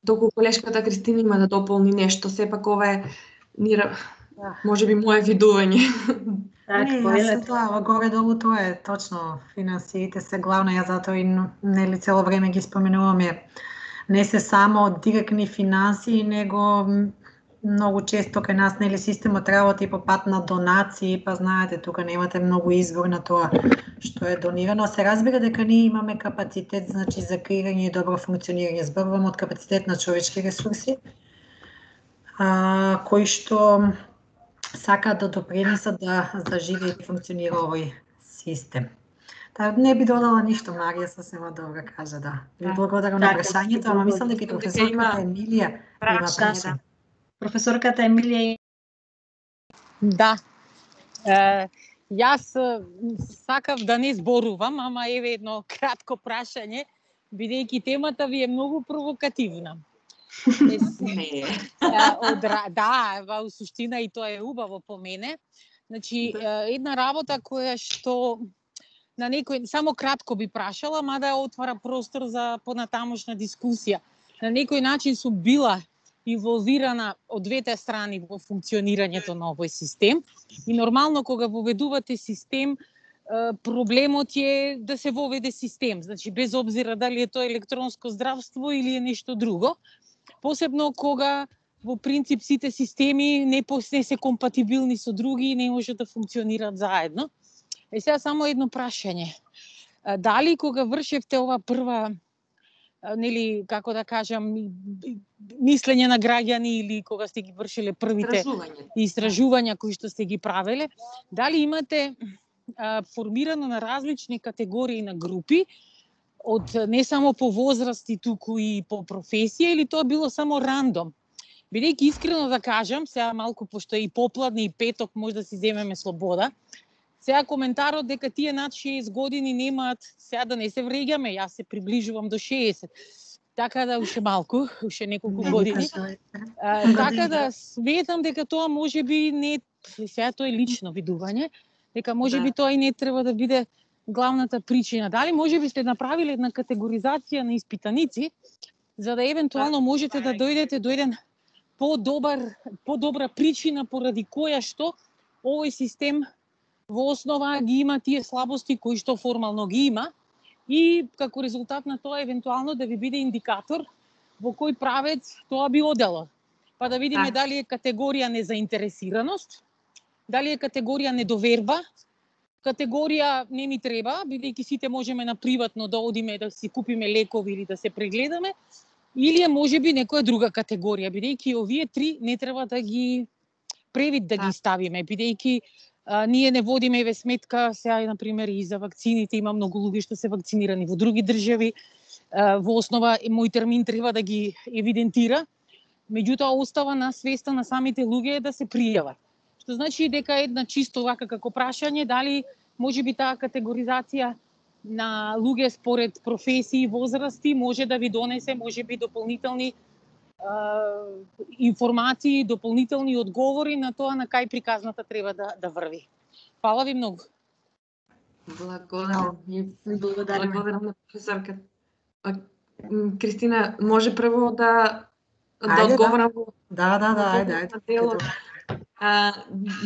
Доколку колешката Кристина има да дополни нешто, сепак ова е нира, можеби мое видување. Так, не, јас тоа, горе-долу тоа е точно, финансиите се главно, ја затоа и нели цело време ги споменуваме. Не се само директни финансии, него многу често кај нас нели системот работи по пат на донации, па знаете, тука немате многу избор на тоа што е донирано. Се разбира дека ние имаме капацитет, значи за креирање и добро функционирање. Зборувам од капацитет на човечки ресурси, а, кои што сакаат да допринесат да заживее и функционира овој систем. Та не би додала ништо, Марија сосема добро кажа, да. Ви благодарам на прашањето, ама мислам дека професорката Емилија има прашање. Професорката Емилија. Да. Е, јас сакав да не зборувам, ама еве едно кратко прашање, бидејќи темата ви е многу провокативна. Е, од, да, во суштина и тоа е убаво по мене. Значи, една работа која што на некој само кратко би прашала, мада отвара простор за понатамошна дискусија. На некој начин сум била инволвирана од двете страни во функционирањето на овој систем и нормално кога воведувате систем, проблемот е да се воведе систем, значи без обзира дали е тоа електронско здравство или е нешто друго, посебно кога во принцип сите системи не, не се компатибилни со други и не може да функционираат заедно. Е сега само едно прашање. Дали кога вршевте ова прва, нели, како да кажам, мислење на граѓани или кога сте ги вршиле првите истражувања кои што сте ги правеле, дали имате а, формирано на различни категории на групи, од не само по возрасти, туку и по професија, или тоа било само рандом? Бидејќи искрено да кажам, сега малку пошто е и попладне и петок, може да си земеме слобода, сега коментарот дека тие над шеесет години немаат, сега да не се вреѓаме, јас се приближувам до шеесет, така да уште малку, уште неколку години. А, така да сметам дека тоа може би не, сега тоа е лично видување, дека може би тоа и не треба да биде главната причина. Дали може би сте направиле една категоризација на испитаници, за да евентуално можете да дојдете до еден по-добар, по-добра причина поради која што овој систем во основа ги има тие слабости кои што формално ги има и како резултат на тоа евентуално да ви биде индикатор во кој правец тоа би одело. Па да видиме дали е категорија незаинтересираност, дали е категорија недоверба, категорија не ми треба, бидејќи сите можеме на приватно да одиме да си купиме лекови или да се прегледаме, или е можеби некоја друга категорија, бидејќи овие три не треба да ги превид да ги ставиме, бидејќи а, ние не водиме еве сметка сега на пример и за вакцините, има многу луѓе што се вакцинирани во други држави. А, во основа мој термин треба да ги евидентира, меѓутоа остава на свеста на самите луѓе да се пријават. Што значи дека една чисто вака како прашање, дали можеби таа категоризација на луѓе според професии и возрасти може да ви донесе можеби дополнителни а, информации, дополнителни одговори на тоа на кај приказната треба да, да врви. Фала ви многу. Благодарам. Благодарам на професорка. Кристина, може прво да да одговорам? Да, да, да, ајде, ајде. А,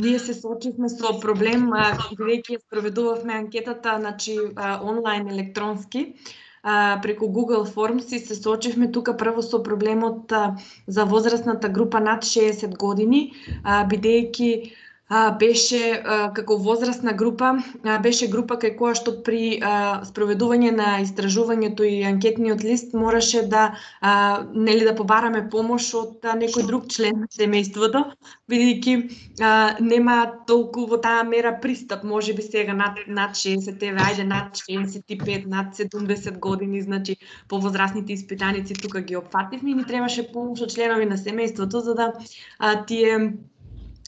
ние се соочивме со проблем, бидејќи спроведувавме анкетата, значи онлайн електронски, а, преку Google Forms и се соочивме тука прво со проблемот а, за возрастната група над шеесет години, а, бидејќи а, беше а, како возрастна група, а, беше група кај која што при а, спроведување на истражувањето и анкетниот лист мораше да а, нели да побараме помош од а, некој друг член на семејството, бидејќи а, нема толку во таа мера пристап, можеби сега над над шеесет, еве ајде над шеесет и пет, над седумдесет години, значи повозрастните испитаници тука ги опфативме и ни требаше помош од членови на семејството за да а, тие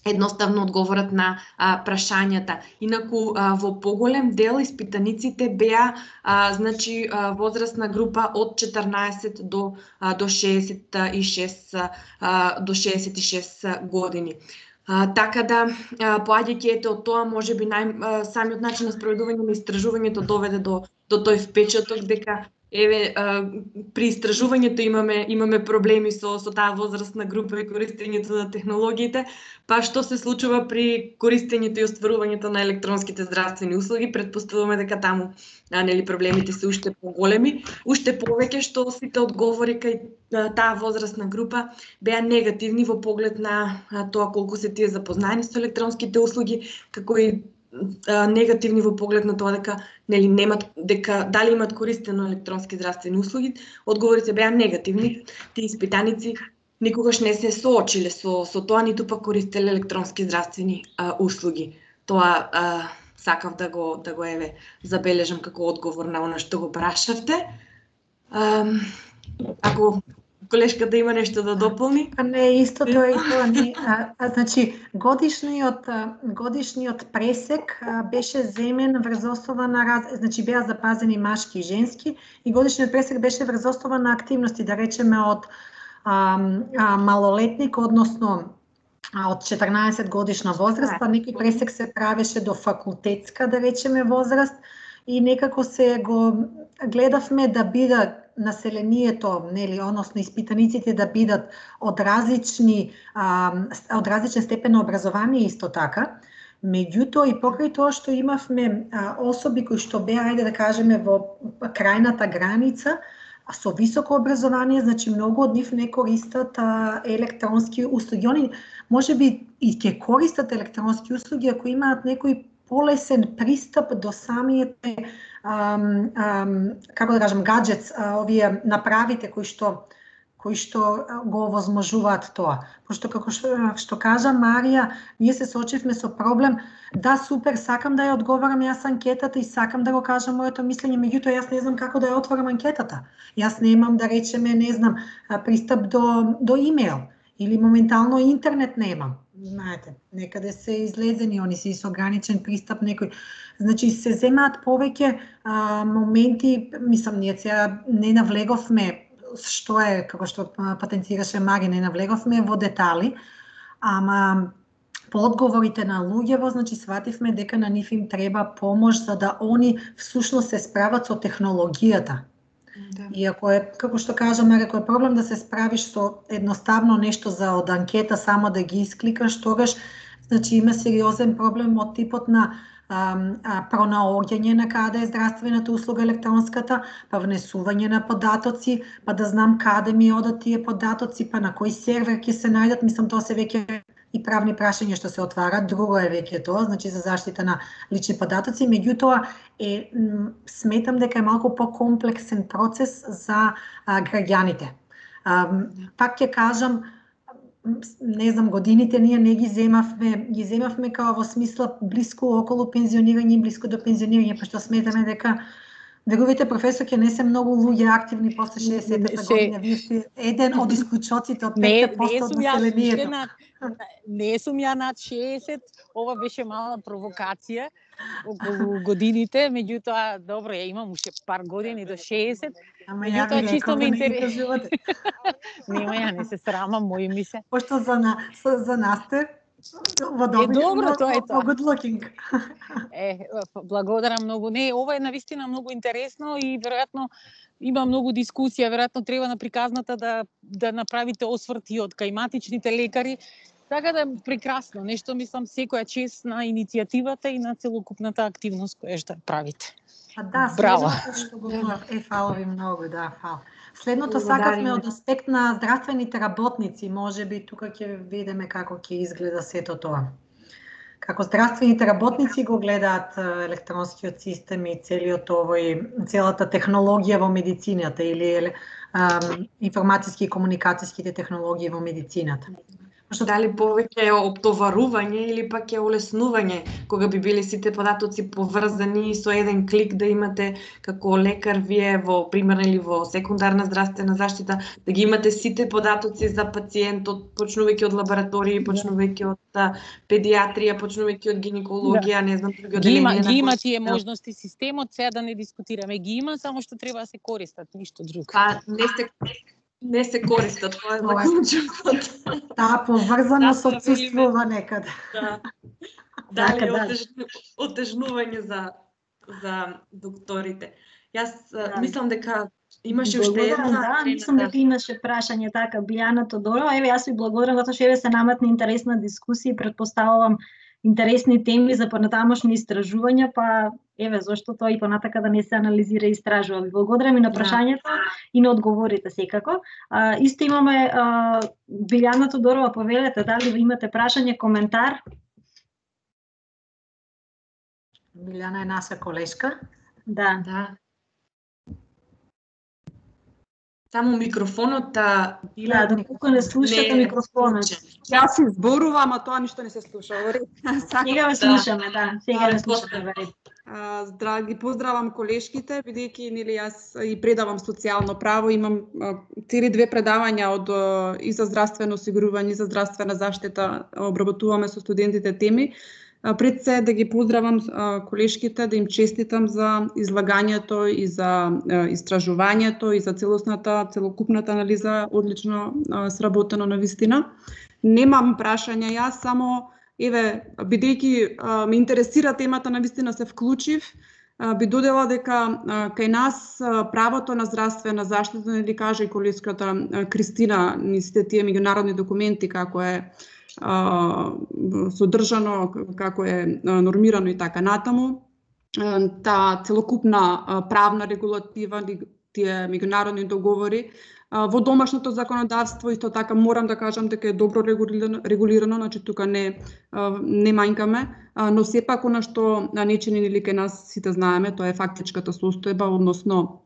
едноставно одговорат на а, прашањата. Инаку а, во поголем дел испитаниците беа а, значи а, возрастна група од четрнаесет до а, до шеесет и шест а, до шеесет и шест години. А, така да поаѓајќи ете од тоа можеби нај а, самиот начин на спроведување на истражувањето доведе до до тој впечаток дека еве а, при истражувањето имаме имаме проблеми со со таа возрастна група и користењето на технологиите, па што се случува при користењето и остварувањето на електронските здравствени услуги, претпоставуваме дека таму а, нели проблемите се уште поголеми, уште повеќе што сите одговори кај а, таа возрастна група беа негативни во поглед на а, тоа колку се тие запознаени со електронските услуги, како и а, негативни во поглед на тоа дека нели немат дека дали имат користено електронски здравствени услуги. Одговорите беа негативни. Тие испитаници никогаш не се соочиле со со тоа, ниту пак користеле електронски здравствени а, услуги. Тоа а, сакав да го да го еве забележам како одговор на она што го прашавте. А, ако колешката има нешто да дополни? Па не, исто тоа и тоа не. А, а, значи, годишниот годишниот пресек а, беше земен врз основа на раз... значи беа запазени машки и женски и годишниот пресек беше врз основа на активности, да речеме од а, а, малолетник, односно од четрнаесет годишна возраст, па некој пресек се правеше до факултетска, да речеме, возраст и некако се го гледавме да бидат населението, нели, односно испитаниците да бидат од различни а, од различен степен на образование исто така. Меѓутоа и покрај тоа што имавме а, особи кои што беа, ајде да кажеме, во крајната граница, а со високо образование, значи многу од нив не користат а, електронски услуги. Они можеби и ќе користат електронски услуги ако имаат некој полесен пристап до самите ам, ам, како да кажам, гаджетс, а, овие направите кои што кои што го овозможуваат тоа. Пошто како што, што кажа Марија, ние се соочивме со проблем, да, супер, сакам да ја одговорам јас анкетата и сакам да го кажам моето мислење, меѓутоа јас не знам како да ја отворам анкетата. Јас немам, да речеме, не знам, пристап до до имејл или моментално интернет немам. Знаете, некаде се излезени, они се со ограничен пристап некој. Значи се земаат повеќе а, моменти, мислам, ние сега не навлеговме што е, како што патентираше Мари, не навлеговме во детали, ама по одговорите на луѓево, значи свативме дека на нив им треба помош за да они всушност се справат со технологијата. Да. И ако е, како што кажа Мари, ако е проблем да се справиш со едноставно нешто за од анкета, само да ги искликаш, тогаш значи има сериозен проблем од типот на а, а, пронаоѓање на каде е здравствената услуга електронската, па внесување на податоци, па да знам каде ми одат тие податоци, па на кој сервер ќе се најдат, мислам тоа се веќе и правни прашања што се отварат, друго е веќе тоа, значи за заштита на лични податоци, меѓутоа е сметам дека е малку покомплексен процес за а, граѓаните. А, пак ќе кажам, не знам, годините ние не ги земавме, ги земавме као во смисла блиску околу пензионирање, блиску до пензионирање, па што сметаме дека верувате, професор, ќе не се многу луѓе активни после шеесетта година. Вие сте еден од исклучоците од петте проценти од населението. Не сум ја над шеесет, ова беше мала провокација околу годините, меѓутоа, добро, ја имам уште пар години до шеесет. Ама ја ви реков да не ги кажувате. Нема, ја не се срамам, мои ми се. Пошто за, на, за нас те во добри, е, добро, тоа е тоа. Good looking. Е, благодарам многу. Не, ова е навистина многу интересно и веројатно има многу дискусија, веројатно треба на приказната да да направите осврти од каиматичните лекари. Така да прекрасно, нешто мислам секоја чест на иницијативата и на целокупната активност која што правите. А да, браво. Што го е, фала ви многу, да, фала. Следното сакавме од аспект на здравствените работници, можеби тука ќе видиме како ќе изгледа сето тоа. Како здравствените работници го гледаат електронскиот систем и целиот овој, целата технологија во медицината или um, информатиски и комуникацијските технологии во медицината. Што дали повеќе е оптоварување или пак е олеснување, кога би били сите податоци поврзани со еден клик да имате како лекар вие во примерна или во секундарна здравствена заштита, да ги имате сите податоци за пациентот, почнувајќи од лаборатории, почнувајќи од педиатрија, почнувајќи од гинекологија, не знам други одделенија. Ги има тие можности системот, сега да не дискутираме, ги има, само што треба да се користат, ништо друго. Па не се не се користат, тоа е заклучокот. Таа поврзаност отсуствува некаде. Да. Дали отежнување за за докторите. Јас мислам дека имаше уште една. Да, мислам дека имаше прашање така, Билјана Тодорова. Еве, јас ви благодарам затоа што еве се наметна интересна дискусија и претпоставувам интересни теми за понатамошни истражувања, па еве зошто тоа и понатака да не се анализира и истражува. Ви благодарам и на прашањето и на одговорите секако. А, исто имаме а, Билјана Тодорова, повелете, дали имате прашање, коментар? Билјана е наша колешка. Да. Да. Само микрофонот да да, доколку не слушате микрофонот. Јас се зборувам, а тоа ништо не се слуша. Сега ве слушаме, да. Сега ве слушаме. Драги, поздравам колешките, бидејќи нели јас и предавам социјално право, имам цели две предавања од и за здравствено осигурување и за здравствена заштита, обработуваме со студентите теми. Пред се да ги поздравам колешките, да им честитам за излагањето и за истражувањето и за целосната, целокупната анализа, одлично сработено на вистина. Немам прашања јас, само еве, бидејќи ме интересира темата, на вистина се вклучив, би додела дека кај нас правото на здравствена заштита, нели каже и колешката Кристина, ни сите тие меѓународни документи како е содржано, како е нормирано и така натаму. Та целокупна правна регулатива, тие меѓународни договори, во домашното законодавство исто така морам да кажам дека е добро регулирано, регулирано, значи тука не не мањкаме, но сепак она што не чини нели кај нас сите знаеме, тоа е фактичката состојба, односно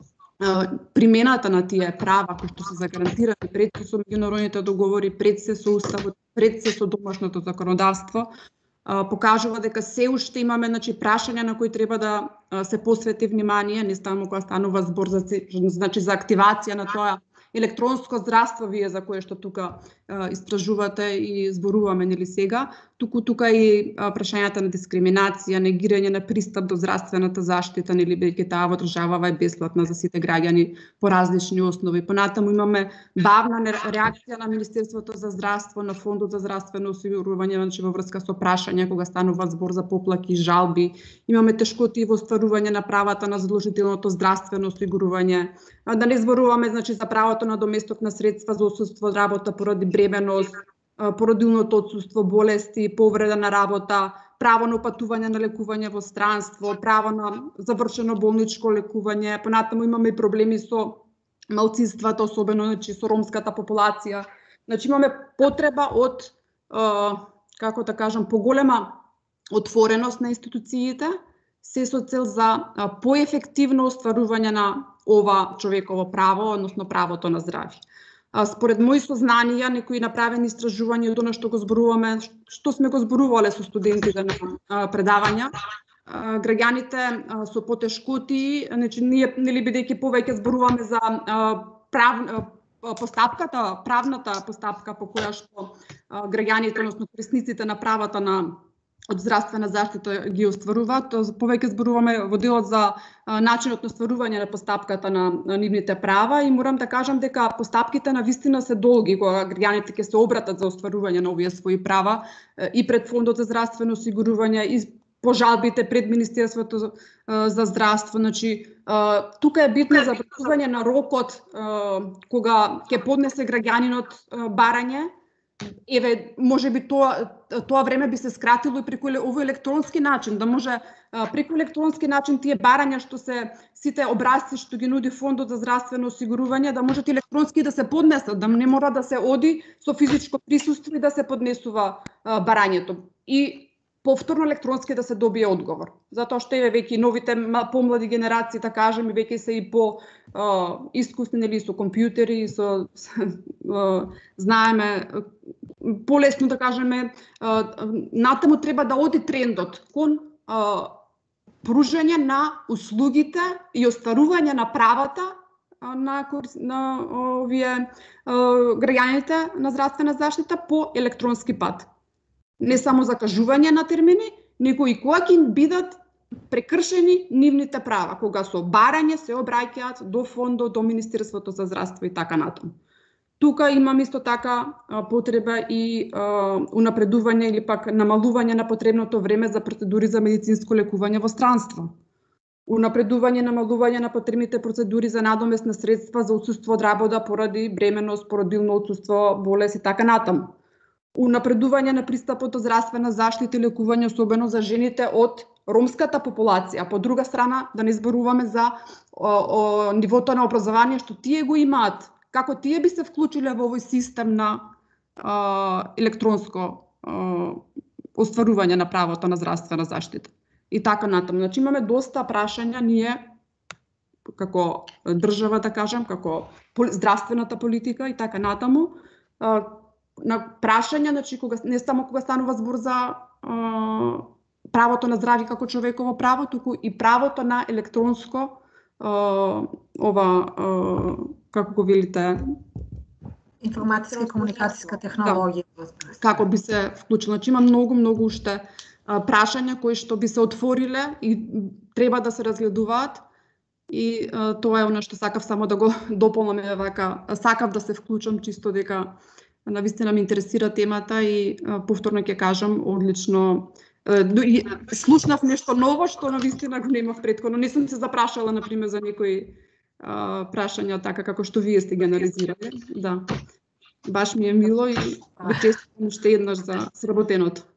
примената на тие права кои што се загарантирани пред се со меѓународните договори, пред се со уставот, пред се со домашното законодавство, покажува дека се уште имаме, значи, прашања на кои треба да се посвети внимание, не само кога станува збор за, значи, за активација на тоа електронско здравство, вие за кое што тука а, истражувате и зборуваме нели сега, туку тука и а, прашањата на дискриминација, негирање на пристап до здравствената заштита, нели бидејќи таа во државава е бесплатна за сите граѓани по различни основи. Понатаму имаме бавна реакција на Министерството за здравство, на Фондот за здравствено осигурување, значи во врска со прашања кога станува збор за поплаки и жалби. Имаме тешкоти во остварување на правата на задолжителното здравствено осигурување. Да не зборуваме, значи, за правото на доместокна средства за отсуство од работа поради бременост, породилното отсуство, болести, повреда на работа, право на упатување на лекување во странство, право на завршено болничко лекување. Понатаму имаме проблеми со малцинствата, особено, значи, со ромската популација. Значи имаме потреба од како да кажам, поголема отвореност на институциите, се со цел за поефективно остварување на ова човеково право, односно правото на здравје. Според мои сознанија, некои направени истражувања од она што го зборуваме, што сме го зборувале со студентите на предавања, граѓаните со потешкоти, значи ние нели бидејќи повеќе зборуваме за прав постапката, правната постапка по која што граѓаните, односно корисниците на правата на од здравствена заштита ги остваруваат, повеќе зборуваме во делот за начинот на остварување на постапката на, на нивните права и морам да кажам дека постапките на вистина се долги кога граѓаните ќе се обратат за остварување на овие своји права и пред Фондот за здравствено осигурување и по жалбите пред Министерството за здравство. Значи, тука е битно за вршување на рокот кога ќе поднесе граѓанинот барање. Еве, може би тоа тоа време би се скратило и преку овој електронски начин, да може преку електронски начин тие барања што се сите образци што ги нуди Фондот за здравствено осигурување, да можат електронски да се поднесат, да не мора да се оди со физичко присуство и да се поднесува барањето. И повторно електронски да се добие одговор. Затоа што еве веќе новите помлади генерации, да кажем, веќе се и по а, искусни, нели, со компјутери, со а, знаеме полесно да кажеме, а, натаму треба да оди трендот кон а, пружање на услугите и остварување на правата на на овие граѓаните на здравствена заштита по електронски пат. Не само закажување на термини, него и кога ќе бидат прекршени нивните права, кога со барање се обраќаат до фондот, до Министерството за здравство и така натаму. Тука имам исто така потреба и а, унапредување или пак намалување на потребното време за процедури за медицинско лекување во странство. Унапредување, намалување на потребните процедури за надоместни средства за отсуство од работа поради бременост, породилно отсуство, болест и така натаму. Унапредување на пристапот до здравствена заштита и лекување, особено за жените од ромската популација. По друга страна, да не зборуваме за о, о, нивото на образование што тие го имаат. Како тие би се вклучиле во овој систем на а, електронско а, остварување на правото на здравствена заштита. И така натаму. Значи имаме доста прашања ние како држава, да кажем, како здравствената политика и така натаму. А, на прашања, значи кога не само кога станува збор за а, правото на здравје како човеково право, туку и правото на електронско а, ова а, како го велите, информатиска и комуникацијска технологија. Да, како би се вклучила. Значи има многу многу уште а, прашања кои што би се отвориле и треба да се разгледуваат. И а, тоа е она што сакав само да го дополнам, вака сакав да се вклучам чисто дека навистина ме интересира темата и а, повторно ќе кажам, одлично и слушнав нешто ново што навистина го немав претходно. Не сум се запрашала на пример за некои а, прашања така како што вие сте ги анализирале. Да. Баш ми е мило и ви честитам уште еднаш за сработеното.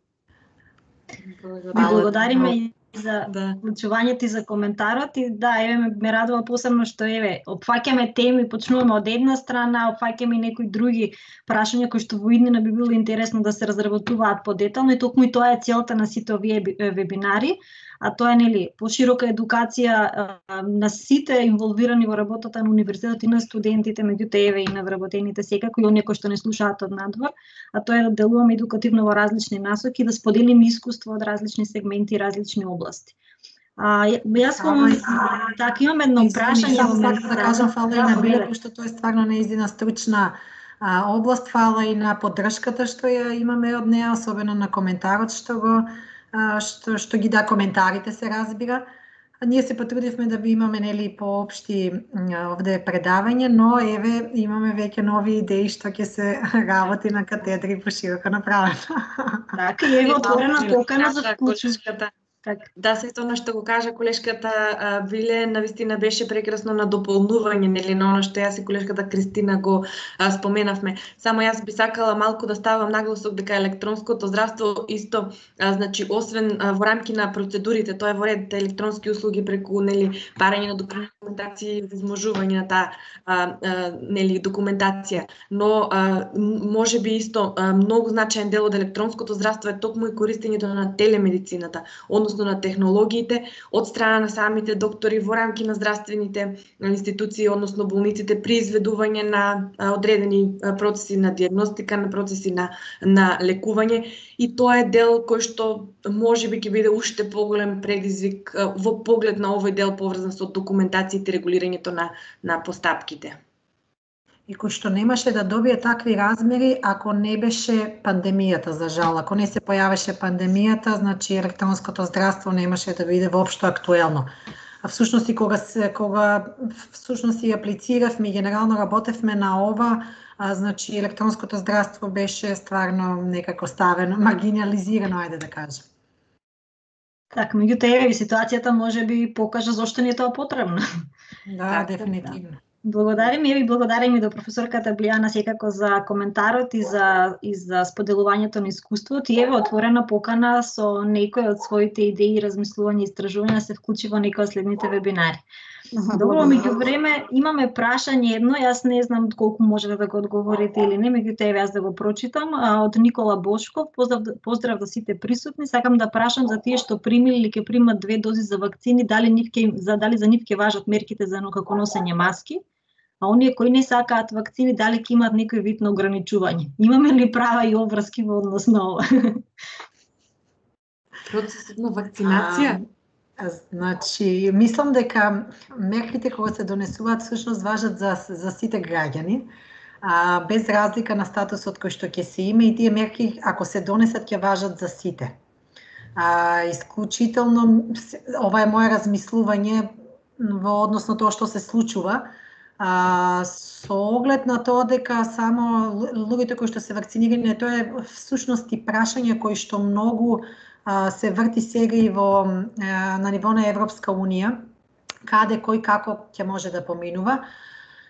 Благодариме и за да. вклучувањето и за коментарот и да, еве ме, ме радува посебно што еве опфаќаме теми, почнуваме од една страна, опфаќаме и некои други прашања кои што во иднина би било интересно да се разработуваат подетално и токму и тоа е целта на сите овие вебинари, а тоа е нели поширока едукација а, на сите инволвирани во работата на универзитетот и на студентите, меѓутоа еве и на вработените секако и оние кои што не слушаат од надвор, а тоа е да делуваме едукативно во различни насоки, да споделиме искуство од различни сегменти и различни области. А, јас кон така имам едно прашање во мене да кажам фала и на Биле, пошто тоа е стварно неизина стручна а, област, фала и на поддршката што ја имаме од неа, особено на коментарот што го што што ги да коментарите се разбира. Ние се потрудивме да би имаме нели поопшти овде предавање, но еве имаме веќе нови идеи што ќе се работи на катедри пошироко направено. Така, и еве отворена покана за вклучување. Так. Да, се тоа што го кажа колешката Биле, навистина беше прекрасно на дополнување, нели, на оно што јас и колешката Кристина го а, споменавме. Само јас би сакала малку да ставам нагласок дека електронското здравство исто, а, значи, освен а, во рамки на процедурите, тоа е во ред електронски услуги преку, нели, барање на документација и возможување на таа, а, а, нели, документација. Но а, може би исто а, многу значаен дел од електронското здравство е токму и користењето на телемедицината, односно на технологиите од страна на самите доктори во рамки на здравствените институции, односно болниците, при изведување на одредени процеси на диагностика, на процеси на, на лекување, и тоа е дел кој што можеби ќе биде уште поголем предизвик во поглед на овој дел поврзан со документацијата и регулирањето на, на постапките. И кој што немаше да добие такви размери ако не беше пандемијата, за жал. Ако не се појавеше пандемијата, значи електронското здравство немаше да биде воопшто актуелно. А всушност и кога се кога всушност и аплициравме и генерално работевме на ова, а, значи електронското здравство беше стварно некако ставено, маргинализирано, ајде да кажем. Так, меѓутоа еве ситуацијата може би покажа зошто ни е тоа потребно. Да, Так, дефинитивно. Благодарим и благодарим и до професорката Билјана секако за коментарот и за и за споделувањето на искуството. И еве отворена покана со некои од своите идеи, размислувања и истражувања се вклучи во некои од следните вебинари. Добро, меѓувреме имаме прашање едно, јас не знам колку можете да го одговорите или не, меѓутоа еве јас да го прочитам, од Никола Бошков. Поздрав, поздрав за сите присутни. Сакам да прашам за тие што примиле или ќе примат две дози за вакцини, дали нив ќе за дали за нив ќе важат мерките за како носење маски? А оние кои не сакаат вакцини, дали ќе имаат некој вид на ограничување? Имаме ли права и обврски во однос на ова? Процесот на вакцинација? А, значи, мислам дека мерките кога се донесуваат всушност важат за, за сите граѓани, а, без разлика на статусот кој што ќе се има, и тие мерки, ако се донесат, ќе важат за сите. А, исклучително, ова е моје размислување во однос на тоа што се случува, А, со оглед на тоа дека само луѓето кои што се вакцинирани, тоа е всушност и прашање кои што многу а, се врти сега и во а, на ниво на Европска унија, каде кој како ќе може да поминува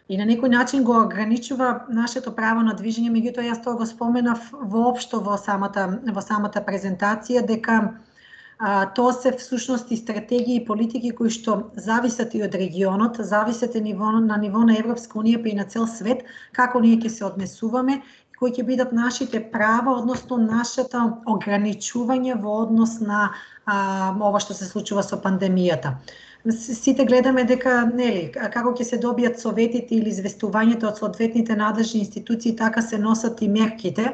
и на некој начин го ограничува нашето право на движење, меѓутоа јас тоа го споменав воопшто во самата во самата презентација дека А, тоа се всушност и стратегии и политики кои што зависат и од регионот, зависат и ниво, на ниво на Европска унија, па и на цел свет, како ние ќе се однесуваме, кои ќе бидат нашите права, односно нашето ограничување во однос на а, ова што се случува со пандемијата. Сите гледаме дека, нели, како ќе се добијат советите или известувањето од соодветните надлежни институции, така се носат и мерките.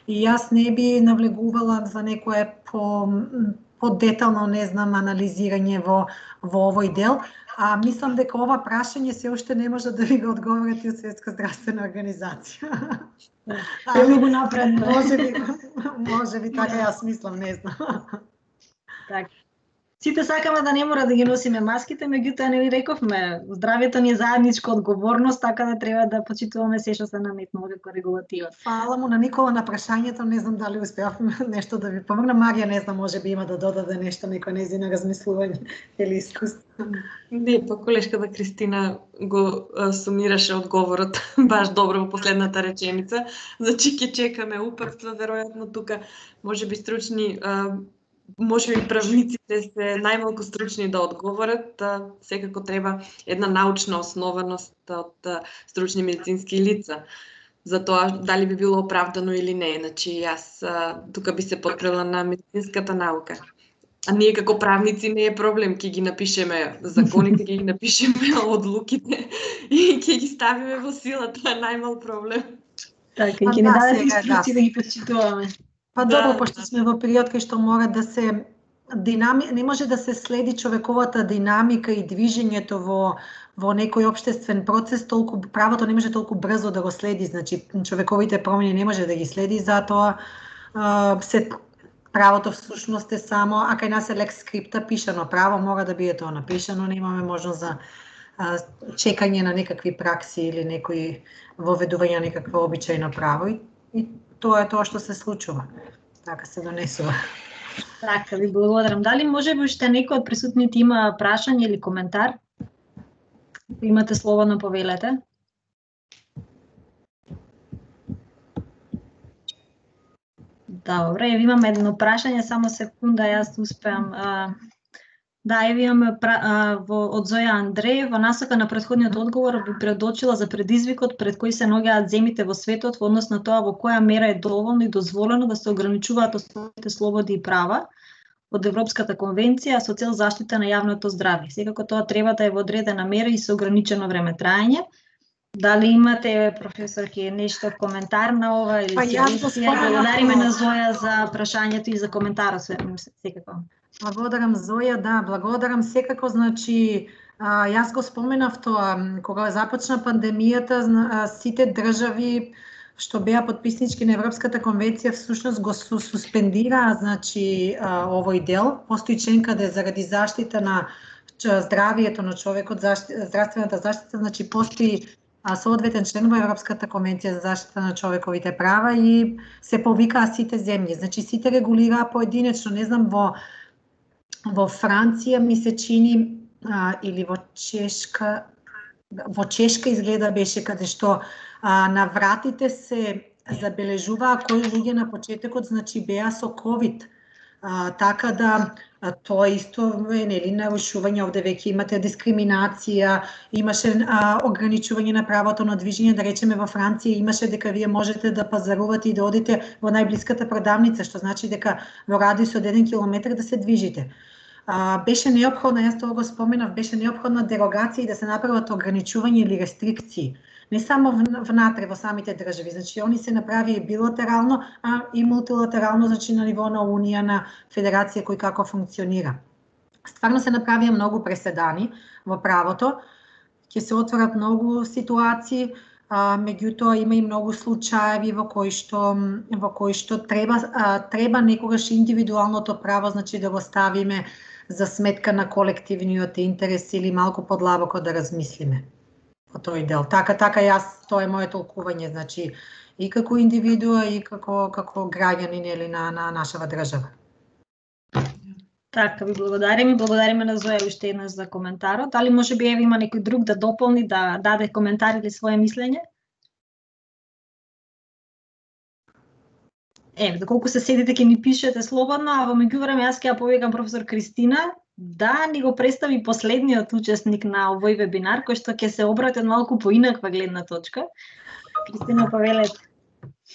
И јас не би навлегувала за некое по подетално, не знам, анализирање во во овој дел, а мислам дека ова прашање се уште не може да ви го одговорат и од Светска здравствена организација. Многу напред. Може би, може би така јас мислам, не знам. Так. Сите сакаме да не мора да ги носиме маските, меѓутоа не ви рековме, здравјето ни е заедничка одговорност, така да треба да почитуваме се што се наметнува како регулатива. Фала му на Никола на прашањето, не знам дали успеавме нешто да ви помогна. Марија, не знам, може би има да додаде нешто, некој нејзино размислување или искуство. Не, па колешката Кристина го а, сумираше одговорот баш добро во последната реченица. Значи ќе чекаме упатства, веројатно тука можеби стручни а, може би правниците се најмалку стручни да одговорат, а, секако треба една научна основаност од а, стручни медицински лица за тоа дали би било оправдано или не. Значи јас а, тука би се подпрела на медицинската наука. А ние како правници не е проблем, ќе ги напишеме законите, ќе ги напишеме одлуките и ќе ги ставиме во сила, тоа е најмал проблем. Така, и ќе ни дадат инструкции да ги почитуваме. Па Да, добро, пошто сме во период кај што мора да се динами... не може да се следи човековата динамика и движењето во во некој општествен процес, толку правото не може толку брзо да го следи, значи човековите промени не може да ги следи, затоа а, се правото всушност е само, а кај нас е лекс скрипта, пишано право, мора да биде тоа напишано, немаме можност за а, чекање на некакви пракси или некои воведување на некакво обичајно право и, и тоа е тоа што се случува. Така се донесува. Така, ви благодарам. Дали може би уште некој од присутните има прашање или коментар? Имате слободно, повелете. Добре, ево имаме едно прашање, само секунда, јас успеам. А, да, ево имаме а, во, од Зоја Андреј, во насока на претходниот одговор би предочила за предизвикот пред кој се наоѓаат земите во светот во однос на тоа во која мера е доволно и дозволено да се ограничуваат основните слободи и права од Европската конвенција со цел заштита на јавното здравје. Секако тоа треба да е во одредена мера и со ограничено време траење. Дали имате, професорки, нешто коментар на ова или па, сигесија? Благодариме на Зоја за прашањето и за коментарот, секако. Благодарам, Зоја, да, благодарам секако, значи, а, јас го споменав тоа, кога започна пандемијата, сите држави што беа потписнички на Европската конвенција всушност го суспендираа, значи, а, овој дел. Постои член каде заради заштита на здравието на човекот, защи, здравствената заштита, значи постои а, соодветен член во Европската конвенција за заштита на човековите права и се повикаа сите земји. Значи сите регулираа поединечно, не знам, во во Франција ми се чини а, или во Чешка, во Чешка изгледа беше каде што а, на вратите се забележуваа кои луѓе на почетокот, значи беа со ковид. А, така да а, тоа исто е нели нарушување, овде веќе имате дискриминација, имаше а, ограничување на правото на движење, да речеме во Франција имаше дека вие можете да пазарувате и да одите во најблиската продавница, што значи дека во радиус од еден километар да се движите. А, беше неопходно, јас тоа го споменав, беше неопходна дерогација и да се направат ограничување или рестрикции. Не само внатре во самите држави, значи они се направи билатерално, а и мултилатерално, значи на ниво на Унија, на Федерација кој како функционира. Стварно се направија многу преседани во правото, ќе се отворат многу ситуации, а, меѓутоа има и многу случаеви во кои што во кои што треба а, треба некогаш индивидуалното право, значи да го ставиме за сметка на колективниот интерес или малку подлабоко да размислиме по тој дел. Така, така јас, тоа е моје толкување, значи и како индивидуа и како како граѓанин или на на нашава држава. Така, ви благодариме, благодариме на Зоја уште еднаш за коментарот. Дали може би ева има некој друг да дополни, да даде коментар или свое мислење? Еве, доколку се седите ќе ни пишете слободно, а во меѓувреме јас ќе ја повикам професор Кристина да ни го представи последниот учесник на овој вебинар, кој што ќе се обрати од малку поинаква гледна точка. Кристина, повелете.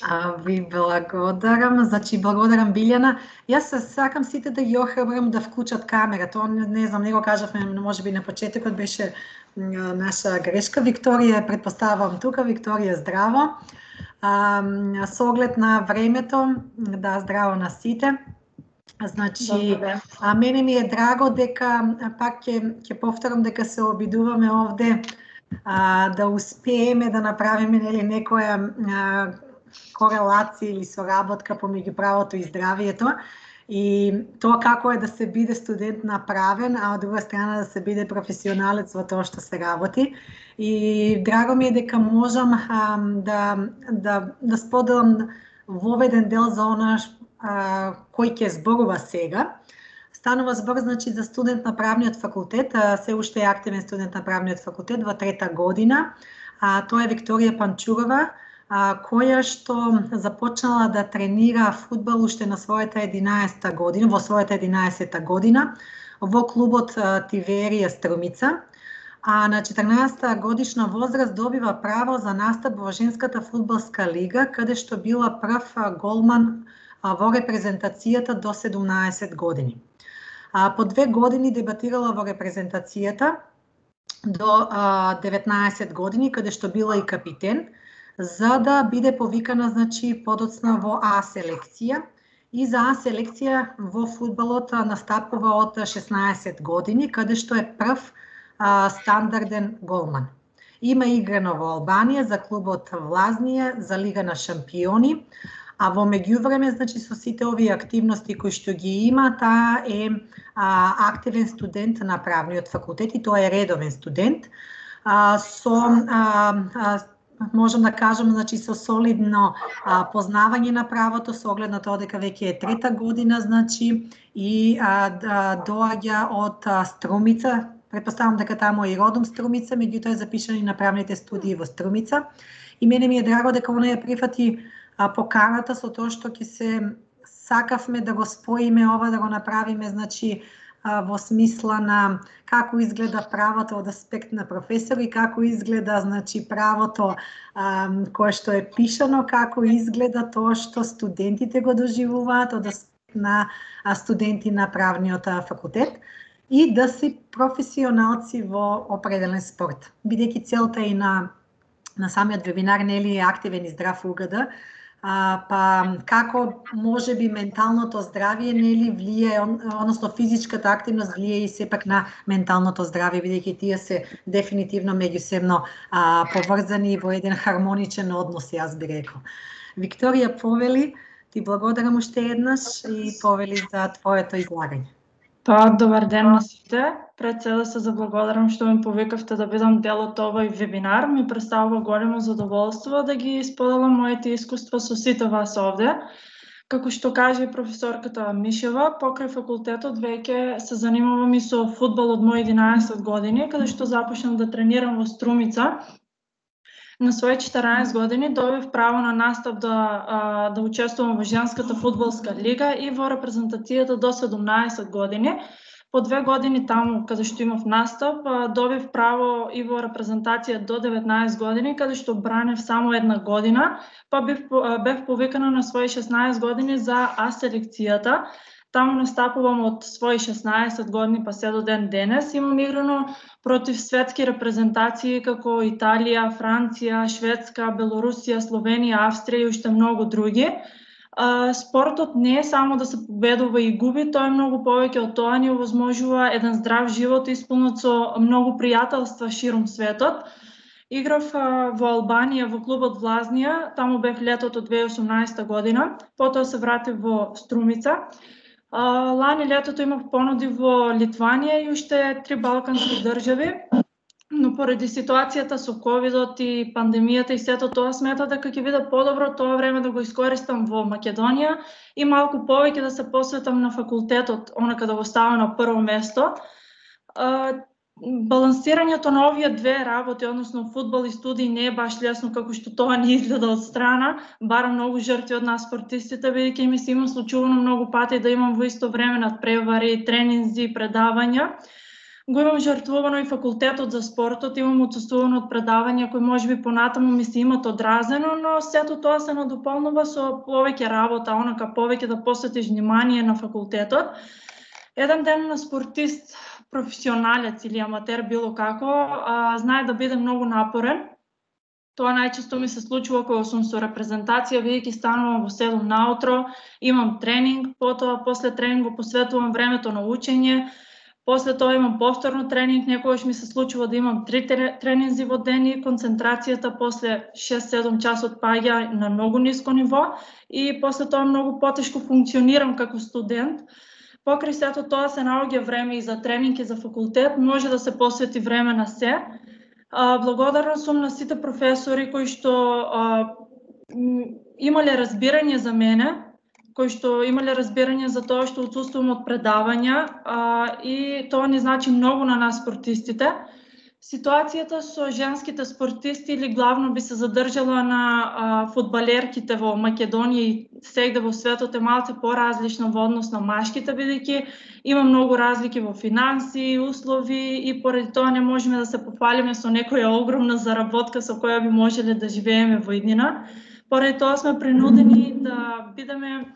А, ви благодарам, значи благодарам Билјана. Јас сакам сите да ги охрабрам да вклучат камера. Тоа не, не знам, не го кажавме, можеби на почетокот беше наша грешка. Викторија, предпоставам тука, Викторија, здраво. А, со оглед на времето, да, здраво на сите. Значи, а мене ми е драго дека пак ќе ќе повторам дека се обидуваме овде а, да успееме да направиме нели некоја а, корелација или соработка помеѓу правото и здравието и тоа како е да се биде студент направен, а од друга страна да се биде професионалец во тоа што се работи. И драго ми е дека можам а, да да да споделам воведен дел за она а, кој ќе зборува сега. Станува збор, значи, за студент на правниот факултет, а, се уште е активен студент на правниот факултет во трета година. А, тоа е Викторија Панчурова, а, која што започнала да тренира фудбал уште на својата единаесета година, во својата единаесета година, во клубот а, Тиверија Струмица. А на четрнаесета годишна возраст добива право за настап во женската фудбалска лига, каде што била прв голман во репрезентацијата до седумнаесет години. А, по две години дебатирала во репрезентацијата до а, деветнаесет години, каде што била и капитен, за да биде повикана, значи, подоцна во А селекција. И за А селекција во фудбалот настапува од шеснаесет години, каде што е прв а, стандарден голман. Има играно во Албанија за клубот Влазнија, за Лига на шампиони, а во меѓувреме, значи, со сите овие активности кои што ги има, таа е а, активен студент на правниот факултет и тоа е редовен студент. А, со а, а, можам да кажам, значи со солидно а, познавање на правото, со оглед на тоа дека веќе е трета година, значи и а, да, доаѓа од а, Струмица. Претпоставам дека таму е и родом Струмица, меѓутоа е запишан и на правните студии во Струмица. И мене ми е драго дека она ја прифати а, поканата со тоа што ќе се сакавме да го споиме ова, да го направиме, значи во смисла на како изгледа правото од аспект на професор и како изгледа, значи, правото а, кое што е пишано, како изгледа тоа што студентите го доживуваат од аспект на студенти на правниот факултет и да си професионалци во определен спорт. Бидејќи целта и на на самиот вебинар нели е активен и здрав УГД, А, па како може би менталното здравје нели влие, односно физичката активност влие и сепак на менталното здравје, бидејќи тие се дефинитивно меѓусебно а, поврзани во еден хармоничен однос, јас би рекол. Викторија, повели, ти благодарам уште еднаш и повели за твоето излагање. Па, добар ден на сите. Пред се да се заблагодарам што ме повикавте да бидам дел од овој вебинар. Ми представува големо задоволство да ги споделам моите искуства со сите вас овде. Како што кажа и професорката Мишева, покрај факултетот веќе се занимавам и со фудбал од мои единаесет години, каде што започнав да тренирам во Струмица. На своји четираесет години добив право на настап да, а, да учествувам во женската фудбалска лига и во репрезентацијата до седумнаесет години. По две години таму, каде што имав настап, а, добив право и во репрезентација до деветнаесет години, каде што бранев само една година, па бев, бев повикана на своји шеснаесет години за А селекцијата. Таму настапувам од своји шеснаесет години па се до ден денес. Имам играно против светски репрезентации како Италија, Франција, Шведска, Белорусија, Словенија, Австрија и уште многу други. Спортот не е само да се победува и губи, тој е многу повеќе од тоа, ни овозможува еден здрав живот исполнет со многу пријателства ширум светот. Играв во Албанија во клубот Влазнија, таму бев летото две илјади и осумнаесета година, потоа се вратив во Струмица. Лани летото имав понуди во Литванија и уште три балкански држави, но поради ситуацијата со ковидот и пандемијата и сето тоа смета дека ќе биде подобро тоа време да го искористам во Македонија и малку повеќе да се посветам на факултетот, онака да го ставам на прво место. Балансирањето на овие две работи, односно фудбал и студии, не е баш лесно како што тоа ни изгледа од страна, бара многу жртви од нас спортистите, бидејќи ми се има случувано многу пати да имам во исто време надпревари, тренинзи, предавања. Го имам жртвувано и факултетот за спортот, имам отсуствувано од предавања кои можеби понатаму ми се имат одразено, но сето тоа се надополнува со повеќе работа, онака повеќе да посветиш внимание на факултетот. Еден ден на спортист, професионалец или аматер, било како, а, знае да биде многу напорен. Тоа најчесто ми се случува кога сум со репрезентација, бидејќи станувам во седум наутро, имам тренинг, потоа после тренинг го посветувам времето на учење, после тоа имам повторно тренинг, некогаш ми се случува да имам три тренинзи во ден и концентрацијата после шест-седум часот паѓа на многу ниско ниво и после тоа многу потешко функционирам како студент. Покрај сето тоа се наоѓа време и за тренинг и за факултет, може да се посвети време на се. Благодарна сум на сите професори кои што а, имале разбирање за мене, кои што имале разбирање за тоа што отсуствувам од предавања а, и тоа ни значи многу на нас спортистите. Ситуацијата со женските спортисти или главно би се задржала на а, фудбалерките во Македонија и сегде во светот е малце поразлична во однос на машките, бидејќи има многу разлики во финанси, услови и поради тоа не можеме да се пофалиме со некоја огромна заработка со која би можеле да живееме во иднина. Поради тоа сме принудени да бидеме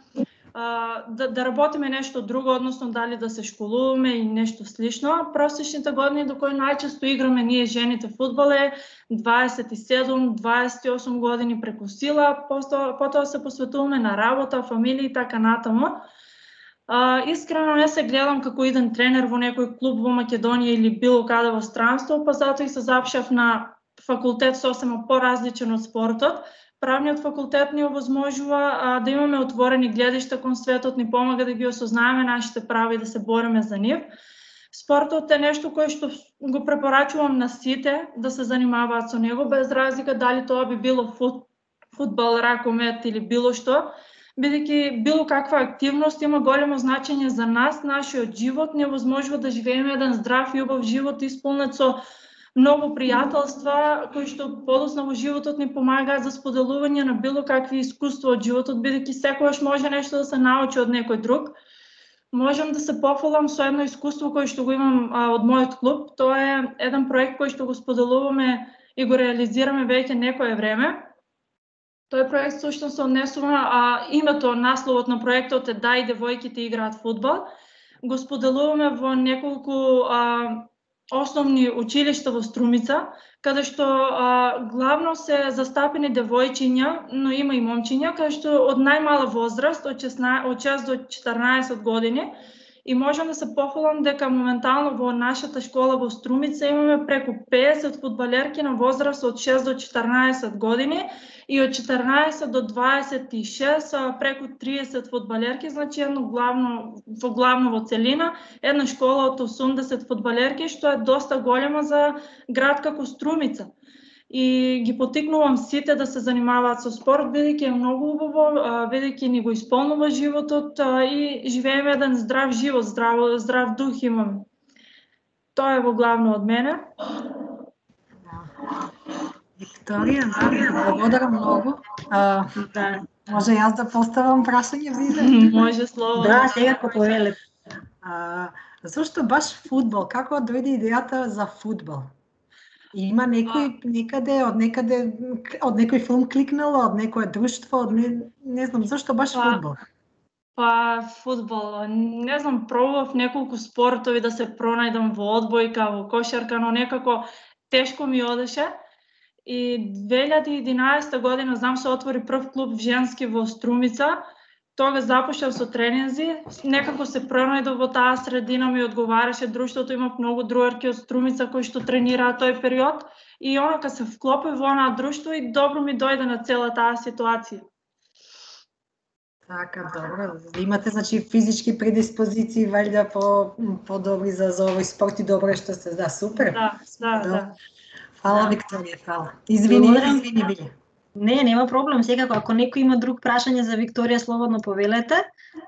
Да, да работиме нешто друго, односно дали да се школуваме и нешто слично. Просечните години до кои најчесто играме ние жените фудбал е дваесет и седум до дваесет и осум години преку сила, потоа, потоа се посветуваме на работа, фамилија и така натаму. А, искрено не се гледам како иден тренер во некој клуб во Македонија или било каде во странство, па затоа и се запшав на факултет сосема поразличен од спортот. Правниот факултет ни овозможува а, да имаме отворени гледишта кон светот, ни помага да ги осознаеме нашите права и да се бориме за нив. Спортот е нешто кое што го препорачувам на сите да се занимаваат со него, без разлика дали тоа би било фут, фудбал, ракомет или било што, бидејќи било каква активност има големо значење за нас, нашиот живот, невозможува да живееме еден здрав и убав живот исполнет со многу пријателства кои што подоцна во животот ни помагаат за споделување на било какви искуства од животот, бидејќи секогаш може нешто да се научи од некој друг. Можам да се пофалам со едно искуство кое што го имам а, од мојот клуб. Тоа е еден проект кој што го споделуваме и го реализираме веќе некое време. Тој проект сушто се однесува, а името, насловот на проектот е "Да и девојките играат фудбал". Го споделуваме во неколку а, основни училишта во Струмица, каде што а, главно се застапени девојчиња, но има и момчиња, каде што од најмала возраст, од шест до четрнаесет години, и можам да се пофалам дека моментално во нашата школа во Струмица имаме преку педесет фудбалерки на возраст од шест до четрнаесет години и од четрнаесет до дваесет и шест преку триесет фудбалерки, значи едно главно во главно во целина, една школа од осумдесет фудбалерки, што е доста голема за град како Струмица. И ги потикнувам сите да се занимаваат со спорт, бидејќи е многу убаво, бидејќи ни го исполнува животот и живееме еден здрав живот, здрав, здрав дух имаме. Тоа е во главно од мене. Викторија, благодарам многу. А, Да, може јас да поставам прашање, Виле? Може слободно. да, секако повелете. А, зошто баш фудбал? Како дојде идејата за фудбал? Има некој некаде, од некаде, од некој филм кликнало, од некое друштво, од не, не знам, зашто баш Па, фудбал? Па фудбал, не знам, пробував неколку спортови да се пронајдам во одбојка, во кошарка, но некако тешко ми одеше. И две илјади и единаесета година, знам, се отвори прв клуб женски во Струмица. Тога започнав со тренинзи, некако се пронајдов во таа средина, ми одговараше друштвото, имав многу другарки од Струмица кои што тренираа тој период и онака се вклопив во онаа друштво и добро ми дојде на цела таа ситуација. Така, добро. Имате, значи, физички предиспозиции, валјда по подобри за, за овој спорт и добро што се, да, супер. Да, да, да. Фала, Да. Викторија, фала. Извини, Благодарам. извини, Виле. Не, нема проблем, секако, ако некој има друг прашање за Викторија, слободно повелете.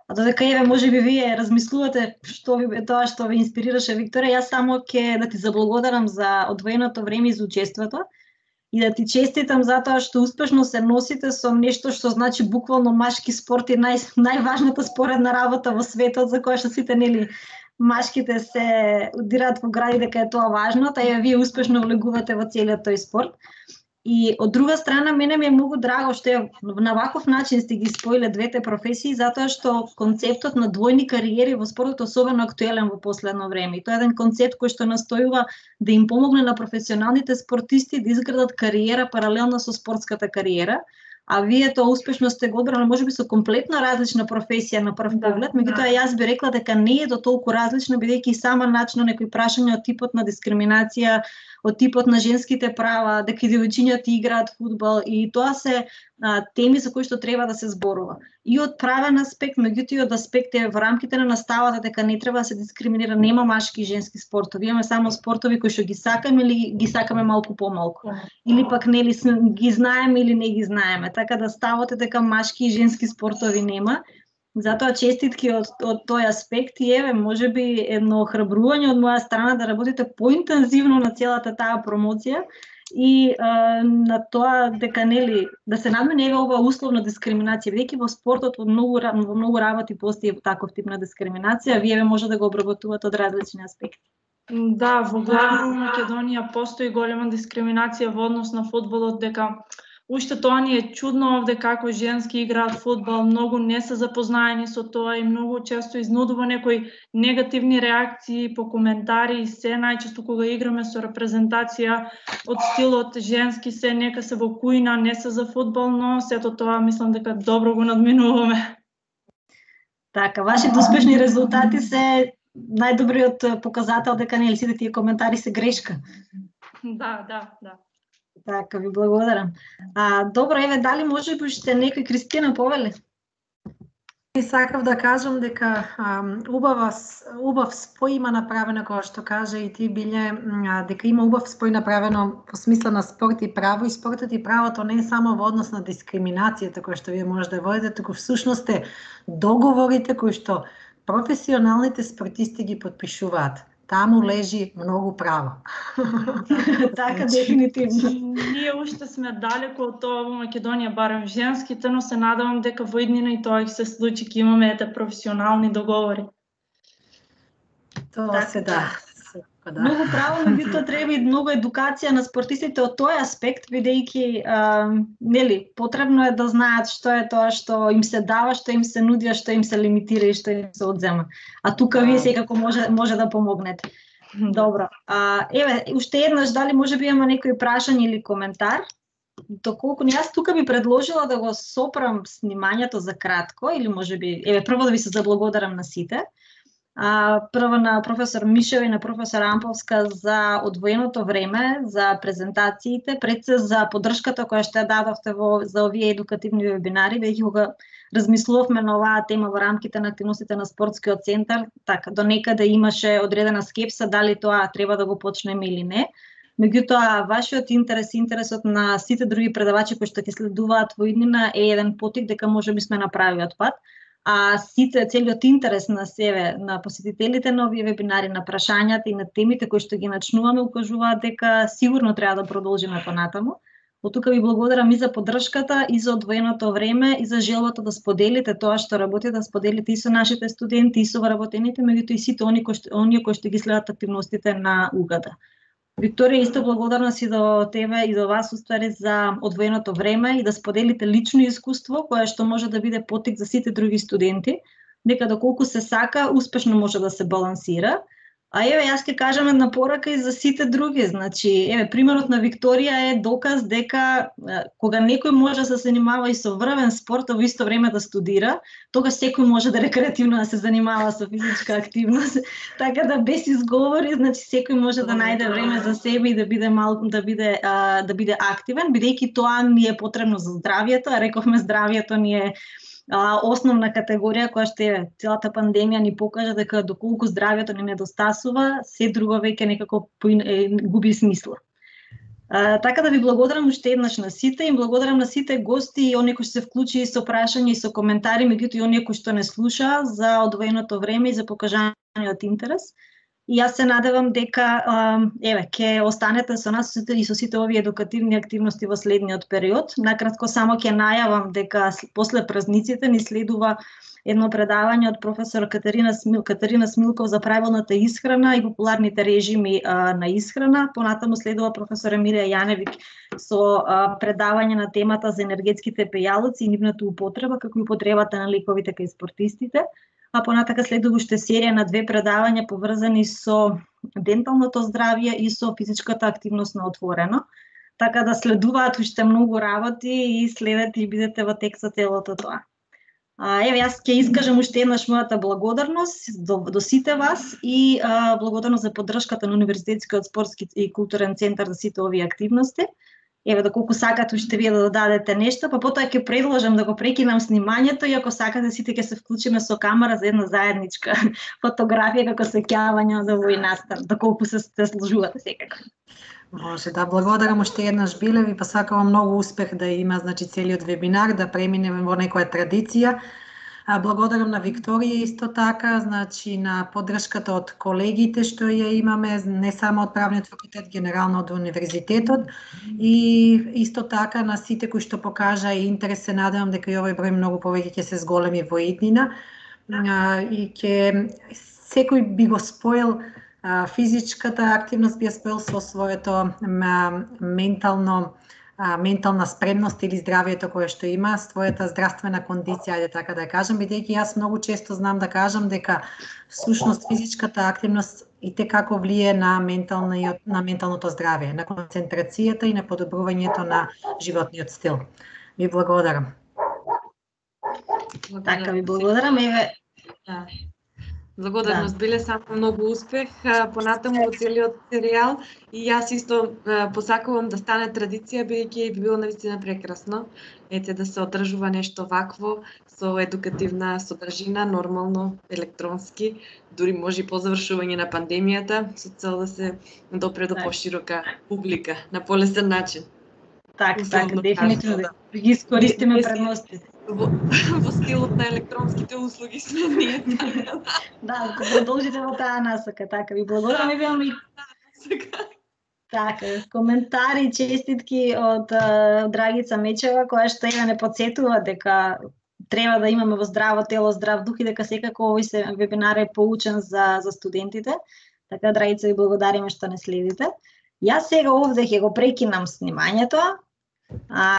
А додека еве можеби вие размислувате што ви е тоа што ви инспирираше Викторија, јас само ќе да ти заблагодарам за одвоеното време и за учеството и да ти честитам затоа што успешно се носите со нешто што значи буквално машки спорт и нај, најважната споредна работа во светот, за која што сите нели машките се удираат во гради дека е тоа важно, та ја вие успешно влегувате во целиот тој спорт. И од друга страна, мене ми е многу драго што ја на ваков начин сте ги споиле двете професии, затоа што концептот на двојни кариери во спортот е особено актуелен во последно време. И тоа е еден концепт кој што настојува да им помогне на професионалните спортисти да изградат кариера паралелно со спортската кариера. А вие тоа успешно сте го одбрали, можеби со комплетно различна професија на прв поглед, меѓутоа јас би рекла дека не е до толку различна, бидејќи сама начина некои прашања од типот на дискриминација, од типот на женските права, дека и девојчињата играат фудбал, и тоа се а, теми за кои што треба да се зборува. И од правен аспект, меѓутоа и од аспект е во рамките на наставата дека не треба да се дискриминира, нема машки и женски спортови, имаме само спортови кои што ги сакаме или ги сакаме малку помалку. Или пак нели ги знаеме или не ги знаеме. Така да ставот е дека машки и женски спортови нема. Затоа честитки од, од тој аспект и еве, можеби едно охрабрување од моја страна да работите поинтензивно на целата таа промоција и а, на тоа дека нели да се надмине еве ова условна дискриминација, бидејќи во спортот во многу во многу работи постои таков тип на дискриминација, вие може да го обработувате од различни аспекти. Да, во главно во Македонија постои голема дискриминација во однос на фудбалот, дека уште тоа ни е чудно овде како женски играат фудбал, многу не се запознаени со тоа и многу често изнудува некои негативни реакции по коментари и се, најчесто кога играме со репрезентација од стилот женски се, нека се во кујна, не се за фудбал, но сето тоа мислам дека добро го надминуваме. Така, вашите успешни резултати се најдобриот показател дека нели сите тие коментари се грешка. Да, да, да. Така, ви благодарам. А, добро, еве, дали може би уште некој Кристина повели? сакав да кажам дека убава убав спој има направено, како што кажа и ти Биле, дека има убав спој направено по смисла на спорт и право, и спортот и правото не е само во однос на дискриминацијата која што вие може да водите, туку всушност е договорите кои што професионалните спортисти ги потпишуваат. Таму лежи многу право. Така, дефинитивно. Ние уште сме далеко од тоа во Македонија, барем женските, но се надевам дека во иднина и тоа ќе се случи, ќе имаме ете професионални договори. Тоа се да. Да. Многу право, меѓутоа треба и многу едукација на спортистите од тој аспект, бидејќи нели потребно е да знаат што е тоа што им се дава, што им се нуди, што им се лимитира и што им се одзема. А тука вие секако може може да помогнете. Добро. А, еве, уште еднаш, дали може би има некој прашање или коментар? Доколку не, јас тука би предложила да го сопрам снимањето за кратко, или може би, еве, прво да ви се заблагодарам на сите. А, прво на професор Мишева и на професор Амповска за одвоеното време, за презентациите, пред се за поддршката која што ја дадовте во, за овие едукативни вебинари, веќе кога размислувавме на оваа тема во рамките на активностите на спортскиот центар, така до некаде имаше одредена скепса дали тоа треба да го почнеме или не. Меѓутоа, вашиот интерес, интересот на сите други предавачи кои што ќе следуваат во иднина е еден потик дека можеби сме на правиот пат. А сите, целиот интерес на себе, на посетителите на овие вебинари, на прашањата и на темите кои што ги начнуваме, укажуваат дека сигурно треба да продолжиме понатаму. Од тука ви благодарам и за поддршката, и за одвоеното време, и за желбата да споделите тоа што работите, да споделите и со нашите студенти, и со вработените, меѓутоа и сите оние кои што, оние кои што ги следат активностите на УГАДа. Викторија, исто благодарност и до тебе и до вас уствари за одвоеното време и да споделите лично искуство кое што може да биде потик за сите други студенти, дека доколку се сака, успешно може да се балансира. А еве, јас ќе кажам една порака и за сите други. Значи, еве, примерот на Викторија е доказ дека кога некој може да се занимава и со врвен спорт, а во исто време да студира, тогаш секој може да рекреативно да се занимава со физичка активност. Така да без изговори, значи секој може да најде време за себе и да биде малку да биде а, да биде активен, бидејќи тоа ни е потребно за здравието, а рековме здравието ни е А, основна категорија која што е целата пандемија ни покажа дека доколку здравието ни недостасува, се друго веќе некако губи смисла. А, така да ви благодарам уште еднаш на сите и благодарам на сите гости и оние кои се вклучи со прашања и со коментари, меѓутоа и оние кои што не слуша за одвоеното време и за покажањето интерес. И јас се надевам дека еве ќе останете со нас и со сите овие едукативни активности во следниот период. Накратко само ќе најавам дека после празниците ни следува едно предавање од професор Катерина Смил, Катерина Смилков за правилната исхрана и популарните режими а, на исхрана. Понатаму следува професор Емилија Јаневик со а, предавање на темата за енергетските пејалоци и нивната употреба, како и употребата на лековите кај спортистите. А понатака следува уште серија на две предавања поврзани со денталното здравје и со физичката активност на отворено. Така да следуваат уште многу работи и следете и бидете во тек со целото тоа. А, еве, јас ќе искажам уште еднаш мојата благодарност до, до сите вас и а, благодарност за поддршката на Универзитетскиот спортски и културен центар за сите овие активности. Еве, доколку сакате уште вие да додадете нешто, па потоа ќе предложам да го прекинам снимањето и ако сакате сите ќе се вклучиме со камера за една заедничка фотографија како сеќавање за овој настан, доколку се се сложувате секако. Може да, благодарам уште еднаш Биле, ви посакувам многу успех да има, значи, целиот вебинар, да преминеме во некоја традиција. Благодарам на Викторија исто така, значи на поддршката од колегите што ја имаме, не само од правниот факултет, генерално од универзитетот, и исто така на сите кои што покажа и интерес, се надевам дека и овој број многу повеќе ќе се зголеми во иднина и ќе секој би го споил физичката активност, би ја споил со своето ментално ментална спремност или здравието кое што има, својата здравствена кондиција, ајде така да ја кажам, бидејќи јас многу често знам да кажам дека всушност физичката активност и те како влие на ментално на менталното здравје, на концентрацијата и на подобрувањето на животниот стил. Ви благодарам. Така, ви благодарам. Еве, Да. Благодарност, Да. биле само многу успех а, понатаму во целиот серијал и јас исто а, посакувам да стане традиција, бидејќи би било навистина прекрасно. Ете да се одржува нешто вакво со едукативна содржина, нормално, електронски, дури може и по завршување на пандемијата, со цел да се допре до Так. поширока публика на полесен начин. Така, Условно така, дефинитивно кажано, да ги искористиме Ние- предностите. Во, во стилот на електронските услуги сме ние. Да, ако продолжите во таа насока, така ви благодарам и имам и Сега. така, коментари, честитки од а, Драгица Мечева, која што ја не подсетува дека треба да имаме во здраво тело, здрав дух и дека секако овој се вебинар е поучен за за студентите. Така, Драгица, ви благодариме што не следите. Јас сега овде ќе го прекинам снимањето. А,